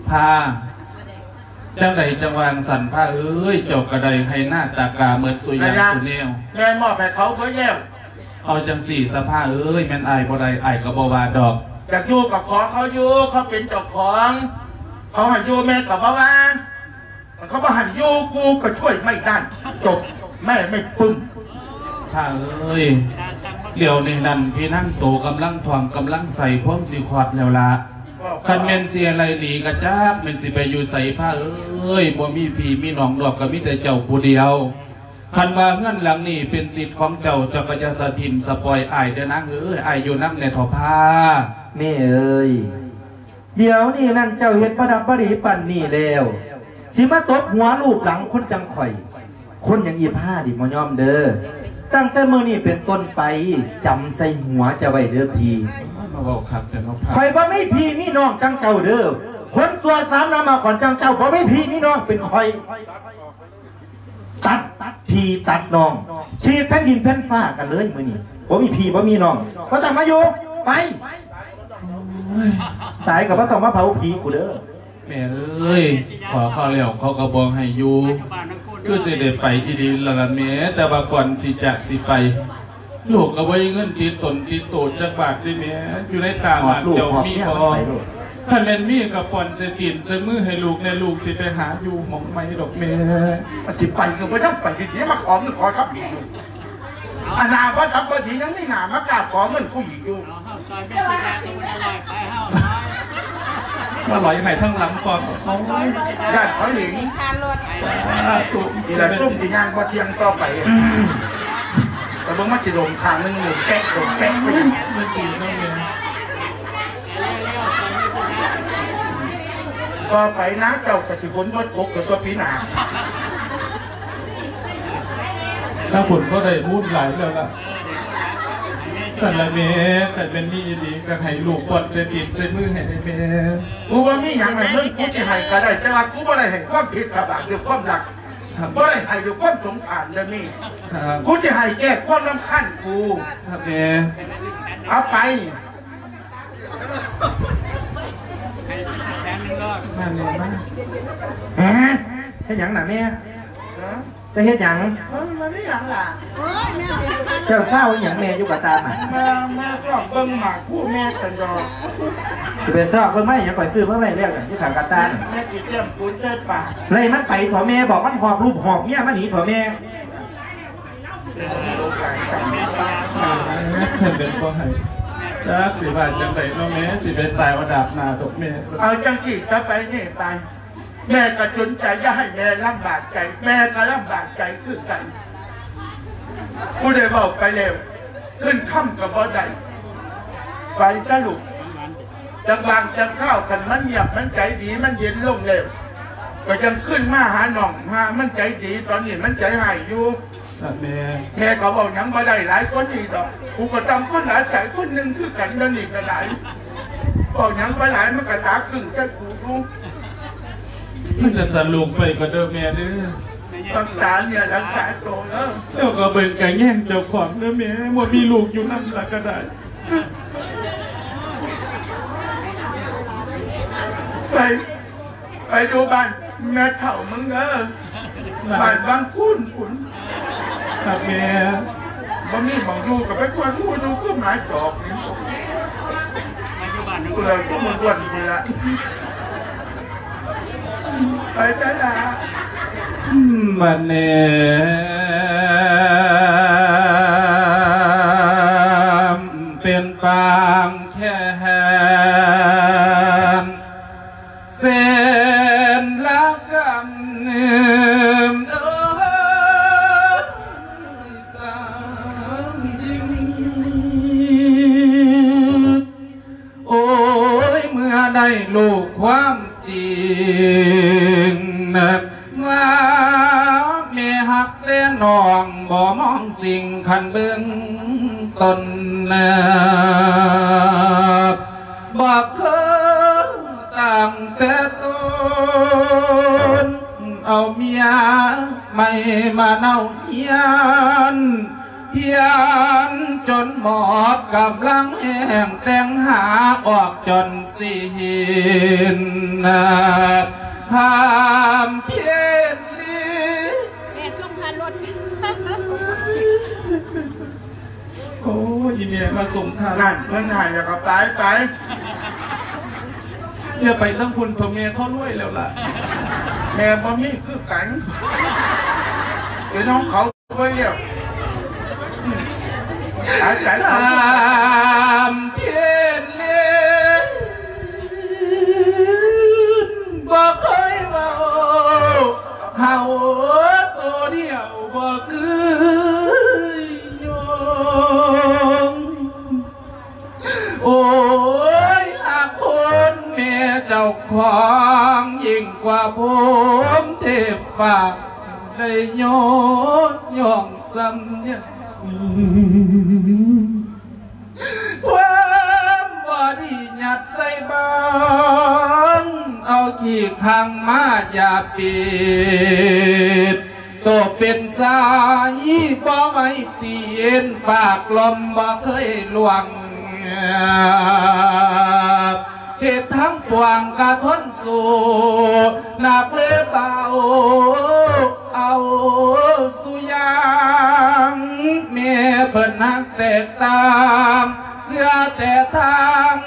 ພາ ຈັ່ງໃດຈັ່ງວ່າຈັ່ງຊັ້ນພາເອີຍ ເຈົ້າກໍໄດ້ໄຮ່ນາຕາກາໝົດສູ່ຢ່າງສູ່ແນວ. ແມ່ມອບໃຫ້ເຂົາເບິດແລ້ວ. ເອົາຈັ່ງຊີ້ຊະພາເອີຍ ແມ່ນອ້າຍບໍ່ໄດ້ ອ້າຍກໍບໍ່ວ່າດອກ. ຢາກຢູ່ກໍຂໍເຂົາຢູ່ ເຂົາເປັນເຈົ້າຂອງ ເຂົາໃຫ້ຢູ່ແມ່ກໍບໍ່ວ່າ ເຂົາບໍ່ໃຫ້ຢູ່ ກູກໍຊ່ວຍໄມ່ໄດ້ ຈົບ ແມ່ໄມ່ປຶ້ມ. ພາເອີຍ ດຽວນີ້ນັ້ນພີ່ນາງໂຕກຳລັງທ້ອງກຳລັງໄສ້ ພວມຊິຄອດແລ້ວລະ. ຄັນແມ່ນຊິໄລ່ໜີກະຈັກແມ່ນຊິໄປຢູ່ໃສພາເອີຍ ບໍ່ມີພີ່ມີນ້ອງດອກ ກໍມີແຕ່ເຈົ້າຜູ້ດຽວ. ຄັນວ່າເຮືອນຫຼັງນີ້ເປັນສິດຂອງເຈົ້າ ເຈົ້າກໍຢ່າສະຖິ້ມສະປ່ອຍອ້າຍເດີນາງເອີຍ ອ້າຍຢູ່ນຳແດ່ເຖາະພາ. ແມ່ເອີຍ ດຽວນີ້ນັ້ນເຈົ້າເຮັດບໍ່ດັບບໍ່ດີປານນີ້ແລ້ວ ຊິມາຕົບຫົວລູບຫຼັງຄົນຈັ່ງຂ້ອຍ ຄົນຫຍັງອີພານີ້ບໍ່ຍອມເດີ. ຕັ້ງແຕ່ມື້ນີ້ເປັນຕົ້ນໄປ ຈຳໃສ່ຫົວເຈົ້າໄວ້ເດີພີ່. ມາເວົ້າຄັກແທ້ເນາະພາ. ຂ້ອຍບໍ່ມີພີ່ມີນ້ອງຈັ່ງເຈົ້າເດີ. ຄົນຊົ່ວສາມໜ້າມາກ່ອນຈັ່ງເຈົ້າ ບໍ່ມີພີ່ມີນ້ອງ ເປັນຂ້ອຍ ຕັດພີ່ຕັດນ້ອງ ຂີດແຜ່ນດິນແຜ່ນຟ້າກັນເລີຍມື້ນີ້. ບໍ່ມີພີ່ບໍ່ມີນ້ອງ ບໍ່ຕ້ອງມາຢູ່ ໄປ. ຕາຍກໍບໍ່ຕ້ອງມາເຜົາຜີກູເດີ. ແມ່ເອີຍ ຂໍເຂົາແລ້ວເຂົາກໍບໍ່ໃຫ້ຢູ່ ຄືຊິໄດ້ໄປອີ່ຫຼີລະລະແມ່. ແຕ່ວ່າກ່ອນຊິຈາກຊິໄປ ລູກກໍບໍ່ມີເງິນຕິດຕົນຕິດໂຕຈັກບາດເດ້ແມ່. ຢູ່ໃນຕາຫຼານເຈົ້າມີບໍ່? ຄັນແມ່ນມີກໍປ່ອນໃສ່ຕີນໃສ່ມືໃຫ້ລູກແດ່ ລູກຊິໄປຫາຢູ່ໝ່ອງໃໝ່ດອກແມ່. ຊິໄປກໍບໍ່ຍອມໄປ ດຽວມາຂໍເງິນຂໍຄຳອີກ. ອັນໜ້າບໍ່ທຳບໍ່ດີ ຍັງມີໜ້າມາກ້າຂໍເງິນກູອີກຢູ່. ມາຫຼອຍໃຫ້ທາງຫຼັງກ່ອນ. ໂອ້ຍ ຢ້ານເຂົາເຫັນ. ສາທຸ. ນີ້ລະ ຊຸມຊິຍ່າງບໍ່ທ່ຽງຕໍ່ໄປ. ແຕ່ເບິ່ງມັນຊິລົມຂ້າງໜຶ່ງ ລົມແປະ ລົມແປະໄປ. ຕໍ່ໄປນາເຈົ້າກໍຊິຝົນບໍ່ຕົກ ກໍຕົກປີໜ້າ. ທາງພຸ້ນກໍໄດ້ບຸນຫຼາຍແລ້ວລະ. ຊັ້ນລະແມ່ ຄັນແມ່ນມີອີ່ຫຼີກໍໃຫ້ລູກປ້ອນໃສ່ຕີນໃສ່ມືໃຫ້ແດ່ແມ່. ກູບໍ່ມີຫຍັງໃຫ້ມຶງ ກູຊິໃຫ້ກໍໄດ້ ແຕ່ວ່າກູບໍ່ໄດ້ໃຫ້ຄວາມຜິດຄວາມບາບ ດ້ວຍຄວາມຮັກ. ບໍ່ໄດ້ໃຫ້ດ້ວຍຄວາມສົງສານເດີແມ່. ກູຊິໃຫ້ແກ້ຄວາມລຳຄານກູ. ຄັບແມ່. ເອົາໄປ. ມາແມ່ມາ. ຮະ? ເຮັດຫຍັງນະແມ່? ຈະເຮັດຫຍັງ? ເອີ ມັນມີຫຍັງລະ? ເຈົ້າຊາວອີ່ຫຍັງແມ່ຢູ່ກະຕາມນະ? ມາ ມາຊອກເບິ່ງໝາກພູແມ່ຊັ້ນດອກ. ຊິໄປຊອກເບິ່ງມາອີ່ຫຍັງ? ຂ້ອຍຊື້ມາໄວ້ແລ້ວນັ້ນ ຢູ່ຂ້າງກະຕານະ. ແມ່ຊິຕຽມປູນໃສ່ປາກ. ໄລ່ມັນໄປເຖາະແມ່ ບອກມັນຫອບລູກຫອບເມຍມັນໜີເຖາະແມ່. ເປັນບໍ່ໃຫ້ ຈັກຊິວ່າຈັ່ງໃດເນາະແມ່ ຊິໄປຕາຍວ່າດາບໜ້າດອກແມ່. ເອົາຈັ່ງຊີ້ ຈະໄປນີ້ໄປ ແມ່ກໍຈົນໃຈ ຢ່າໃຫ້ແມ່ລຳບາກໃຈ ແມ່ກໍລຳບາກໃຈຄືກັນ. ຜູ້ໃດເວົ້າໄປແລ້ວ ຄືນຄຳກໍບໍ່ໄດ້. ໄປຊະລູກ ຈັກບາງຈັກຄາວ ຄັນມັນງຽບ ມັນໃຈດີ ມັນເຢັນລົງແລ້ວ ກໍຈັ່ງຄືນມາຫານ້ອງ ຫາມັນໃຈດີ ຕອນນີ້ມັນໃຈຮ້າຍຢູ່. ແມ່ ແມ່ກໍເວົ້າຫຍັງບໍ່ໄດ້ຫຼາຍກວ່ານີ້ດອກ. ກູກໍຊ່ຳຄົນຫຼາຍໃສຄົນໜຶ່ງຄືກັນ ດຽວນີ້ກໍໄດ້. ເວົ້າຫຍັງໄປຫຼາຍ ມັນກໍຕາຄຶ້ງໃສ່ກູຢູ່. ມັນຈະສະຫຼຸບໄປກໍເດີແມ່ເດີ. ຮັກສາເນື້ອຮັກສາໂຕເດີ. ເຈົ້າກໍເບິ່ງກະແຍງເຈົ້າຂອງເດີແມ່ ບໍ່ມີລູກຢູ່ນຳລະກໍໄດ້. ໄປ ໄປຢູ່ບ້ານແມ່ເຖົ້າມຶງເດີ ບ້ານວັງຄູນພຸ້ນ. ຄັບແມ່. ບໍ່ມີໝ່ອງຢູ່ກໍໄປກວນໝູຢູ່ຄືໝາຈອກນີ້. ກູລະຄືມາກວນພຸ້ນລະ. ໄປໄສລະ? ອືມ ບັດນີ້ເປັນປາງແຄ້ນ ເສັ້ນລະກັນ ເອີຍ ສາງຍິງ. ໂອ້ຍ ເມື່ອໄດ້ຮູ້ຄວາມຈິງ ວ່າແມ່ຮັກແຕ່ນ້ອງ ບໍ່ມອງສິ່ງຄັນເບື້ອງຕົ້ນ ບໍ່ເຄີຍຕັ້ງແຕ່ຕົ້ນ ເອົາເມຍໃໝ່ມາເນົາຮຽນ ພຽນຈົນໝົດກຳລັງແຮງ ແຕ່ງຫາອອກຈົນຊິເຫັນ ຂ້າມເພນລີ. ແມ່ສົ່ງຄ່າລົດ. ໂອ້ຍ ອີແມ່ມາສົ່ງທ່ານ ນັ້ນເພິ່ນໃຫ້ແລ້ວກໍໄປ ໄປ. ຢ່າໄປທາງພຸ້ນເຖາະແມ່ ເຂົາລວຍແລ້ວລະ. ແມ່ບໍ່ມີຄືກັນ ເປັນຂອງເຂົາໄປແລ້ວ. ອືມ ອາໄສເຂົາຢູ່. ຂ້າມເພນເລ ບໍ່ເຄີຍເວົ້າ ເຮົາໂຕດຽວບໍ່ຄືຍອງ. ໂອ້ຍ ຮັກຄົນແມ່ເຈົ້າຂອງ ຍິ່ງກວ່າພົມເທບຟ້າ ໄດ້ຍົກຍ່ອງສ່ຳຍັງ. ຄວາມບໍ່ດີຍັດໃສ່ບັງ ເອົາຂີ້ຂັງມາຢາປິດ ໂຕເປັນສາຍບໍ່ໄຫວຕີນ ປາກລົມບໍ່ເຄີຍລ່ວງ ເຂດທັງປວງກະທົນສູ້ ໜັກເລີເບົາ ເອົາສູ່ຢ່າງ ແມ່ເພິ່ນຮັກແຕກຕ່າງ ເຊື່ອແຕ່ທາງ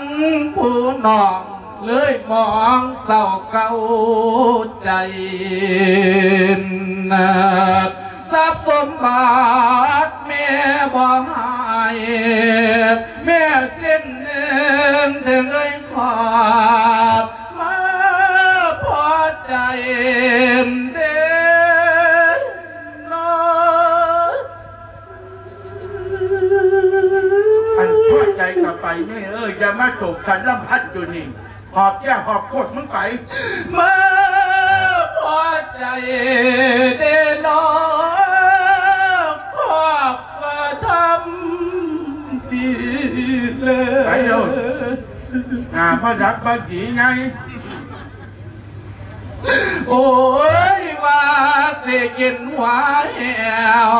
ຜູ້ນ້ອງ ເລີຍມອງເສົ້າເກົ້າໃຈ ຊັບສົມບັດແມ່ ເດເນາະ ອັນພໍໃຈກໍໄປແມ່ເອີຍ ຢ່າມາໂສກສັນລຳພັນຢູ່ນີ້ ຫອບແກ້ຫອບໂຄດມຶງໄປ ມາພໍໃຈເດເນາະ ຄອບວ່າທຳດີແລ້ວ ໄປໂລດ ໜ້າບໍ່ດັບບໍ່ດີໄງ ໂອ້ຍ ວ່າຊິກິນຫົວແຫ້ວ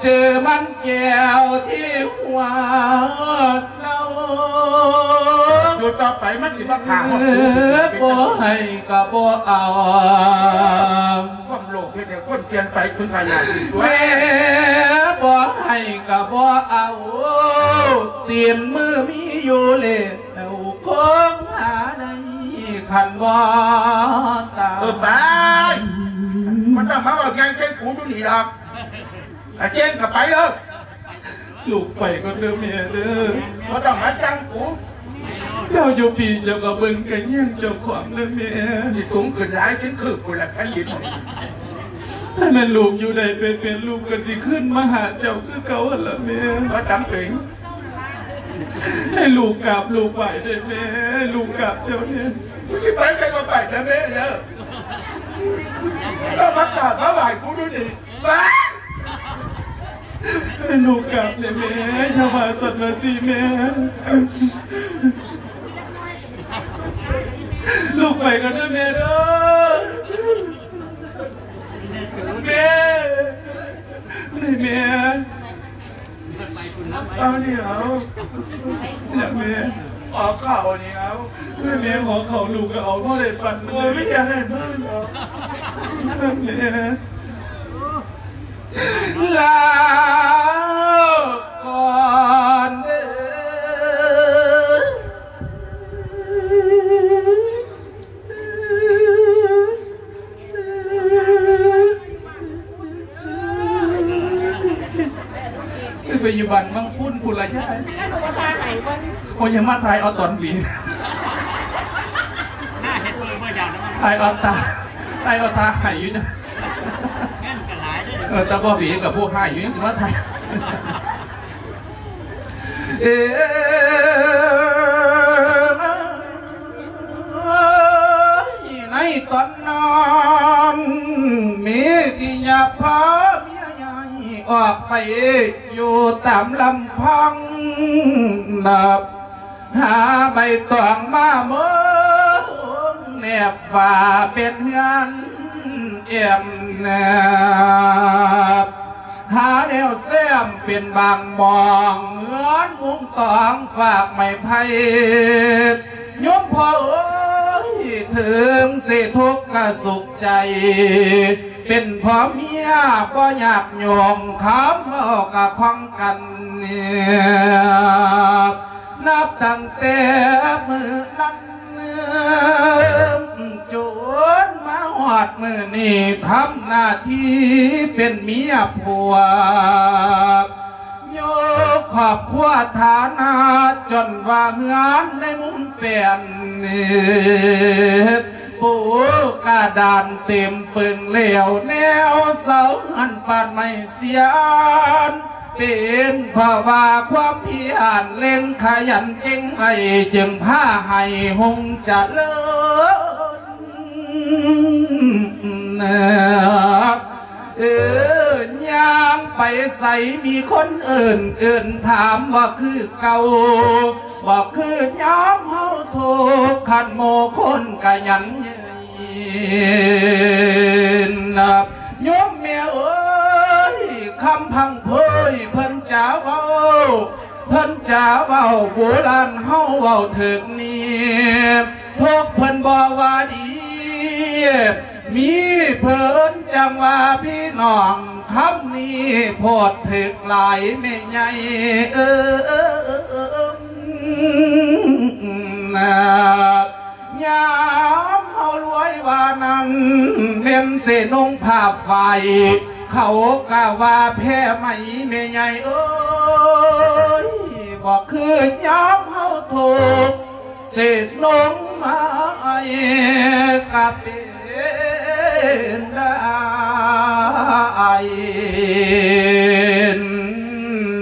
ຈື່ມັນແກ້ວທີ່ຫົວເນົ່າ ຢູ່ຕໍ່ໄປມັນຊິມາຂ້າຮອດກູ ບໍ່ໃຫ້ກໍບໍ່ເອົາ ຄວາມໂລບເຮັດໃຫ້ຄົນປ່ຽນໄປເປັນຂະຫຍາດ ແມ່ບໍ່ໃຫ້ກໍບໍ່ເອົາ ຕີນມືມີຢູ່ເລີຍ ແລ້ວຄົງຫາໄດ້ຄັນບໍ່ຕາຍ ເອີ ໄປ ບໍ່ຕ້ອງມາເວົ້າຫຍັງໃສ່ກູຢູ່ນີ້ດອກ ອາເຈງກໍໄປເດີ ລູກໄປກ່ອນເດີແມ່ເດີ ບໍ່ຕ້ອງມາສັ່ງກູ ເຈົ້າຢູ່ປີເຈົ້າກໍເບິ່ງກະແຍງເຈົ້າຂອງເດີແມ່ ຊິສູງຂຶ້ນຫຼາຍເປັນຄືບພຸ້ນລະແຜ່ນດິນ ຖ້າແມ່ນລູກຢູ່ໄດ້ເປັນໆ ລູກກໍຊິຄືນມາຫາເຈົ້າຄືເກົ່າຫັ້ນລະແມ່ ບໍ່ຈຳເປັນ ໃຫ້ລູກກາບລູກໄຫວ້ເດີແມ່ ໃຫ້ລູກກາບເຈົ້າແດ່ ກູຊິໄປໃສກໍໄປເດີແມ່ເດີ ເຈົ້າມາກາບມາໄຫວ້ກູຢູ່ນີ້ ໄປ ໃຫ້ລູກກາບແດ່ແມ່ ຢ່າວ່າຊັ້ນວ່າຊີ້ແມ່ ລູກໄປກ່ອນເດີແມ່ເດີ ແມ່ ນີ້ແມ່ ເອົານີ້ເອົາ ນີ້ແມ່ ຫໍເຂົ້ານີ້ເອົາ ນີ້ແມ່ ຫໍເຂົ້າລູກກໍເອົາ ບໍ່ໄດ້ປັນ ໂອ້ຍ ມີຫຍັງໃຫ້ເບິ່ງເອົາ ແມ່ ລາກ່ອນເດີ ຊິໄປຢູ່ບ້ານບາງຄູນພຸ້ນລະຍາຍ ໂອ້ຍ ຢ່າມາຖ່າຍເອົາຕອນບີ ຖ່າຍເອົາຕາ ຖ່າຍເອົາຕາໄຫ້ຢູ່ ເອີ ແຕ່ບໍ່ບີກັບຜູ້ຮ້າຍຢູ່ ຍັງຊິມາຖ່າຍ ເອີ ໃນຕອນນັ້ນ ມີທີ່ຍາພາເມຍໃຫຍ່ອອກໄປຢູ່ຕາມລຳພັງ ນັບຫາໃບຕອງມາມຸງແນບຝາເປັນເຮືອນແອ້ມແນບ ຫາແນວແຊມເປັນບາງໝ່ອງ ເຮືອນມຸງຕອງຟາກໄມ້ໄຜ່ ໂຍມພໍ່ເອີຍ ເຖິງຊິທຸກກະສຸກໃຈ ເປັນພໍ່ເມຍບໍ່ຍາກໂຍງ ຄຳເວົ້າກະຄ່ອງກັນ ນັບຕັ້ງແຕ່ມື້ນັ້ນ ຈົນມາຮອດມື້ນີ້ ທຳໜ້າທີ່ເປັນເມຍຜົວ ໂຍກຄອບຄົວຖານະ ຈົນວ່າເຮືອນໃນມຸມແປນ ເຮັດປູກະດານເຕັມປຶງແລ້ວ ແນວເສົາເຮືອນປານໄມ້ສຽນ ເປັນເພາະວ່າຄວາມພຽນເລັ່ງຂະຫຍັນເກັ່ງໄວ້ ຈຶ່ງພາໃຫ້ຮຸ່ງຈະເລີນ ເອີ ຍ່າງໄປໃສມີຄົນເອີ້ນ ເອີ້ນຖາມວ່າຄືເກົ່າ ບໍ່ຄືຍາມເຮົາທຸກ ຄັນໝູ່ຄົນກະຍັງຍືນ ໂຍມແມ່ເອີຍ ຄຳພັງເພີຍເພິ່ນຈະເວົ້າ ເພິ່ນຈະເວົ້າ ໂບລານເຮົາເວົ້າຖືກນີ້ ພວກເພິ່ນບໍ່ວ່າດີ ມີເພິ່ນຈັ່ງວ່າພີ່ນ້ອງ ຄຳນີ້ໂພດຖືກຫຼາຍແມ່ໃຫຍ່ເອີຍ ຍາມເຮົາລວຍວ່ານັ້ນ ແມ່ນຊິນຸ່ງຜ້າຝ້າຍ ເຂົາກະວ່າແພໄໝແມ່ໃຫຍ່ເອີຍ ບໍ່ຄືຍາມເຮົາທຸກ ຊິນຸ່ງໄມ້ກະເປັນ ນໄດ້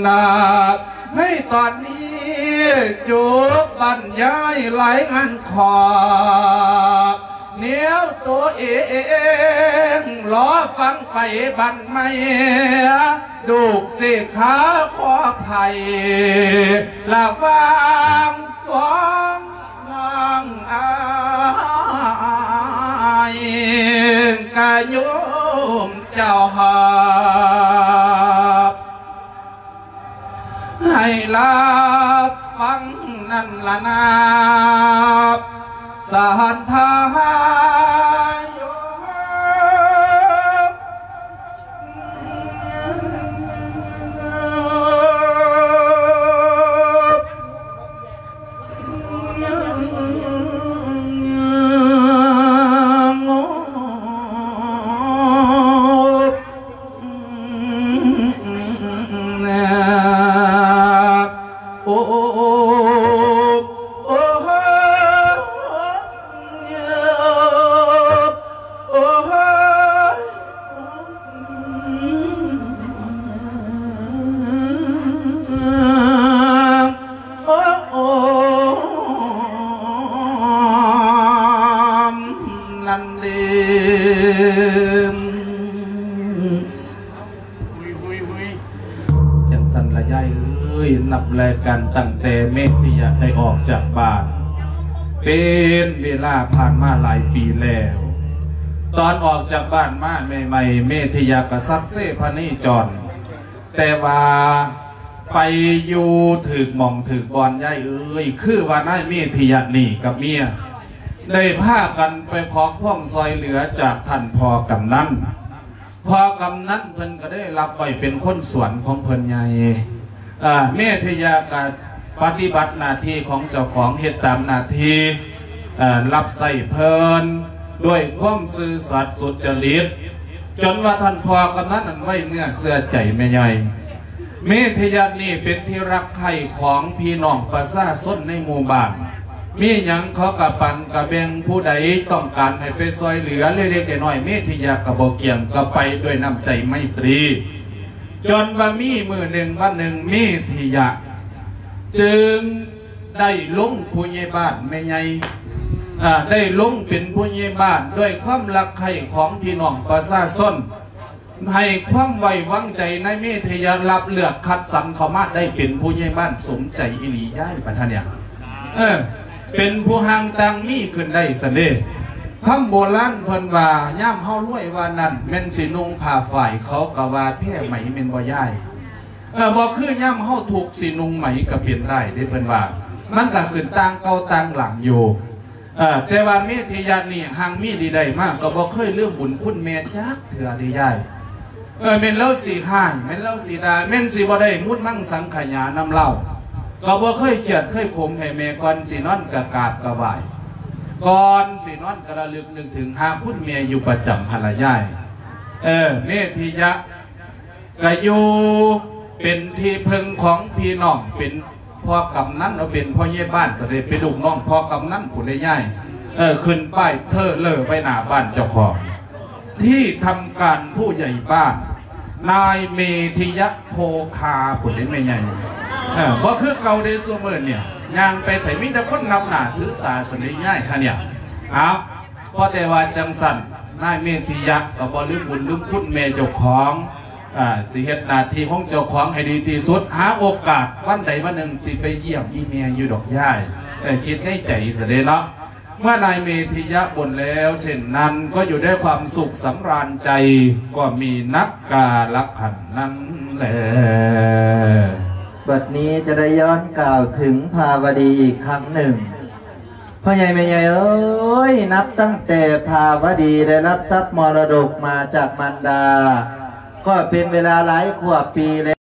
ນະ ໃນຕອນນີ້ຈົບບັນຍາຍລາຍງານຂອບແນວໂຕເອງ ລໍຟັງໄປບັດໃໝ່ ດູກເສກຂາຂໍໄພລະຫວ່າງສອງ ນາງອ້າຍກະໂຍມເຈົ້າຮັບ ໃຫ້ຮັບຟັງນັ້ນລະນາ ສະຫັນທາໂຍມ. ຈັ່ງຊັ້ນລະຍາຍເອີຍ, ນັບແລກັນຕັ້ງແຕ່ເມທິຍະໄດ້ອອກຈາກບ້ານ ເປັນເວລາຜ່ານມາຫຼາຍປີແລ້ວ. ຕອນອອກຈາກບ້ານມາໃໝ່ໆ ເມທິຍະກະສັກເຊພະເນຈອນ, ແຕ່ວ່າໄປຢູ່ຖືກໝ່ອງຖືກບ່ອນ ຍາຍເອີຍ. ຄືວ່ານາຍເມທິຍະນີ້ກັບເມຍ ໄດ້ພາກັນໄປຂໍຄວາມຊ່ອຍເຫຼືອຈາກທ່ານພໍ່ກຳນັນ. ພໍ່ກຳນັນເພິ່ນກະໄດ້ຮັບໄວ້ເປັນຄົນສວນຂອງເພິ່ນໃຫຍ່. ເອີ ເມທິຍະກະປະຕິບັດໜ້າທີ່ຂອງເຈົ້າຂອງ, ເຮັດຕາມໜ້າທີ່ ເອີ ຮັບໃຊ້ເພິ່ນດ້ວຍຄວາມຊື່ສັດສຸດຈະລິດ, ຈົນວ່າທ່ານພໍ່ກຳນັນນັ້ນໄວ້ເນື້ອເຊື່ອໃຈແມ່ໃຫຍ່. ເມທິຍະນີ້ເປັນທີ່ຮັກໃຄ່ຂອງພີ່ນ້ອງປະຊາຊົນໃນໝູ່ບ້ານ. ມີຫຍັງເຂົາກະປັນກະແບ່ງ, ຜູ້ໃດຕ້ອງການໃຫ້ໄປຊ່ອຍເຫຼືອເລັກໆນ້ອຍໆ ເມທິຍະກະບໍ່ກ່ຽງ, ກະໄປດ້ວຍນ້ຳໃຈໄມຕີ. ຈົນວ່າມີມື້ໜຶ່ງວັນໜຶ່ງ ເມທິຍະຈຶ່ງໄດ້ລົງຜູ້ໃຫຍ່ບ້ານແມ່ໃຫຍ່, ອາ, ໄດ້ລົງເປັນຜູ້ໃຫຍ່ບ້ານດ້ວຍຄວາມຮັກໃຄ່ຂອງພີ່ນ້ອງປະຊາຊົນ. ໃຫ້ຄວາມໄວ້ວາງໃຈນາຍເມທິຍະ ຮັບເລືອກຄັດສັນເຂົ້າມາໄດ້ເປັນຜູ້ໃຫຍ່ບ້ານສົມໃຈອີ່ຫຼີຍາຍ ບັດທາເນຍ. ເອີ ເປັນຜູ້ຮ່າງຕ່າງມີຂຶ້ນໄດ້ຊັ້ນເດ. ຄຳໂບລານເພິ່ນວ່າ ຍາມເຮົາລວຍວ່ານັ້ນ ແມ່ນຊິນຸ່ງຜ້າຝ້າຍ ເຂົາກະວ່າແພໄໝແມ່ນບໍ່ຍາຍ? ເອີ ບໍ່ຄືຍາມເຮົາທຸກຊິນຸ່ງໄໝກະເປັນໄດ້ເດ ເພິ່ນວ່າ. ມັນກະຂຶ້ນຕ່າງເກົ່າຕ່າງຫຼັງຢູ່. ເອີ ແຕ່ວ່າເມທິຍະນີ້ຮັ່ງມີດີໄດ້ມາ ກະບໍ່ເຄີຍລືມບຸນຄຸນແມ່ຈັກເທື່ອເດຍາຍ. ເອີ ແມ່ນລາວຊິຮ້າຍ ແມ່ນລາວຊິດ່າ ແມ່ນຊິບໍ່ໄດ້ມຸດມັງສັງຂະຫຍານຳລາວ ກະບໍ່ເຄີຍຄຽດເຄີຍຂົມໃຫ້ແມ່. ກ່ອນຊິນອນກະກາບກະໄຫວ້ ກ່ອນຊິນອນກະລະລຶກນຶກເຖິງຫາຄຸນແມ່ຢູ່ປະຈຳຫັ້ນລະຍາຍ. ເອີ ເມທິຍະ ກະຢູ່ເປັນທີ່ເພິ່ງຂອງພີ່ນ້ອງ, ເປັນພໍ່ກຳນັນ ເອົາເປັນພໍ່ໃຫຍ່ບ້ານ ຈະໄດ້ເປັນລູກນ້ອງພໍ່ກຳນັນພຸ້ນເດຍາຍ. ເອີ ຂຶ້ນປ້າຍເທີເລີໄວ້ໜ້າບ້ານເຈົ້າຂອງ ທີ່ທຳການຜູ້ໃຫຍ່ບ້ານ ນາຍເມທິຍະໂພຄາພຸ້ນເດແມ່ໃຫຍ່. ເອີ ບໍ່ຄືເກົ່າເດ ຊຸມື້ນີ້ຍ່າງໄປໃສມີແຕ່ຄົນນັບໜ້າຖືຕາຊັ້ນເດຍາຍຫັ້ນເນຍ. ເອົາ ພໍແຕ່ວ່າຈັ່ງຊັ້ນ ນາຍເມທິຍະກະບໍ່ລືມບຸນລືມຄຸນແມ່ເຈົ້າຂອງ. ອາ ຊິເຮັດໜ້າທີ່ຂອງເຈົ້າຂອງໃຫ້ດີທີ່ສຸດ, ຫາໂອກາດວັນໃດວັນໜຶ່ງຊິໄປຢ້ຽມອີ່ແມ່ຢູ່ດອກຍາຍ. ເອີ ຄິດໃນໃຈຊະເດເນາະ. ເມື່ອນາຍເມທິຍະບົນແລ້ວເຊັ່ນນັ້ນ ກໍຢູ່ດ້ວຍຄວາມສຸກສຳລານໃຈ ກໍມີນັບກາລະຄັນນັ້ນແລ. ບັດນີ້ຈະໄດ້ຍ້ອນກ່າວເຖິງພາວະດີອີກຄັ້ງໜຶ່ງ. ພໍ່ໃຫຍ່ແມ່ໃຫຍ່ເອີຍ, ນັບຕັ້ງແຕ່ພາວະດີໄດ້ຮັບຊັບມໍລະດົກມາຈາກມານດາ ກໍເປັນເວລາຫຼາຍກວ່າປີແລ້ວ.